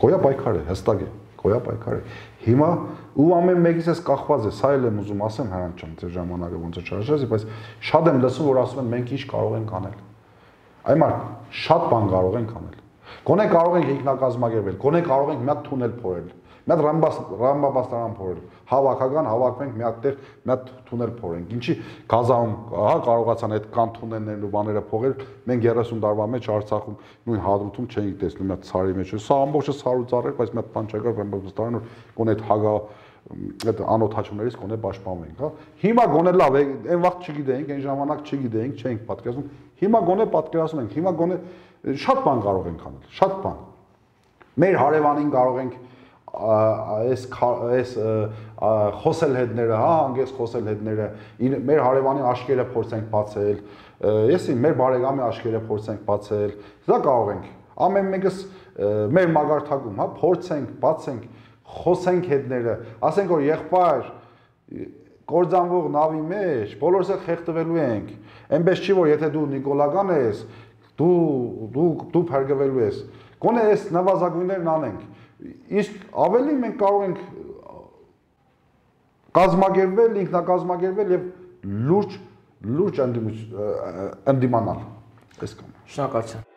գոյա պայքար է, հստակ է, գոյա պայքար է։ Հիմա ու ամեն մեկից էս կախված է, սա էլ եմ ուզում ասեմ, Հրանտ ջան, ձեր ժամանակը ոնց է չարժես, բայց շատ եմ լսում, որ ասում են մենք ինչ կարող ենք անել։ Այմար, շատ բան կարող ենք անել։ Գոնե կարող ենք ինքնակազմակերպել, գոնե կարող ենք մի հատ թունել փորել, մի հատ ռամբաստարան փորել, հավաքական հավաքվենք մի հատ տեղ, մի հատ թունել փորենք։ Ինչի Գազայում, հա, կարողացան այդ կան թունելներն ու բաները փողել, մենք 30 տարվա մեջ Արցախում նույն Հադրութում չէինք տեսնում, մի հատ ցարի մեջ։ Սա ամբողջը սարու ծառ էր, բայց մի հատ բան չկար, ռամբաստարան որ գոնե այդ հագա այդ անօթաչումներից գոնե պաշտպանվենք, հա։ Հիմա գոնե լավ է, այն վաղ չգիտեինք, այն ժամանակ չգիտեինք, չէինք պատկերացնում։ Հիմա գոնե պատկերացնում ենք, հիմա գոնե շատ բան կարող ենք անել, շատ բան։ Մեր հարևանին կարող ենք այս խոսել հետները, հա, հանգես խոսել հետները, մեր հարևանի աշկերը փորձենք բացել, եսի մեր բարեկամի աշկերը փորձենք բացել, դա կարող ենք։ Ամեն մեկս մեր մագարտակում, հա, փորձենք, բացենք, խոսենք հետները, ասենք որ եղբայր կործանվող նավի մեջ բոլորս էլ խեղդվելու ենք։ Այնպես չի որ եթե դու նիկոլական ես, դու փրկվելու ես։ Գոնե այս նվազագույններն անենք։ Իսկ ավելի մենք կարող ենք կազմակերպվել, ինքնակազմակերպվել եւ լուրջ ընդդիմանալ։ Այսքանը։ Շնորհակալություն։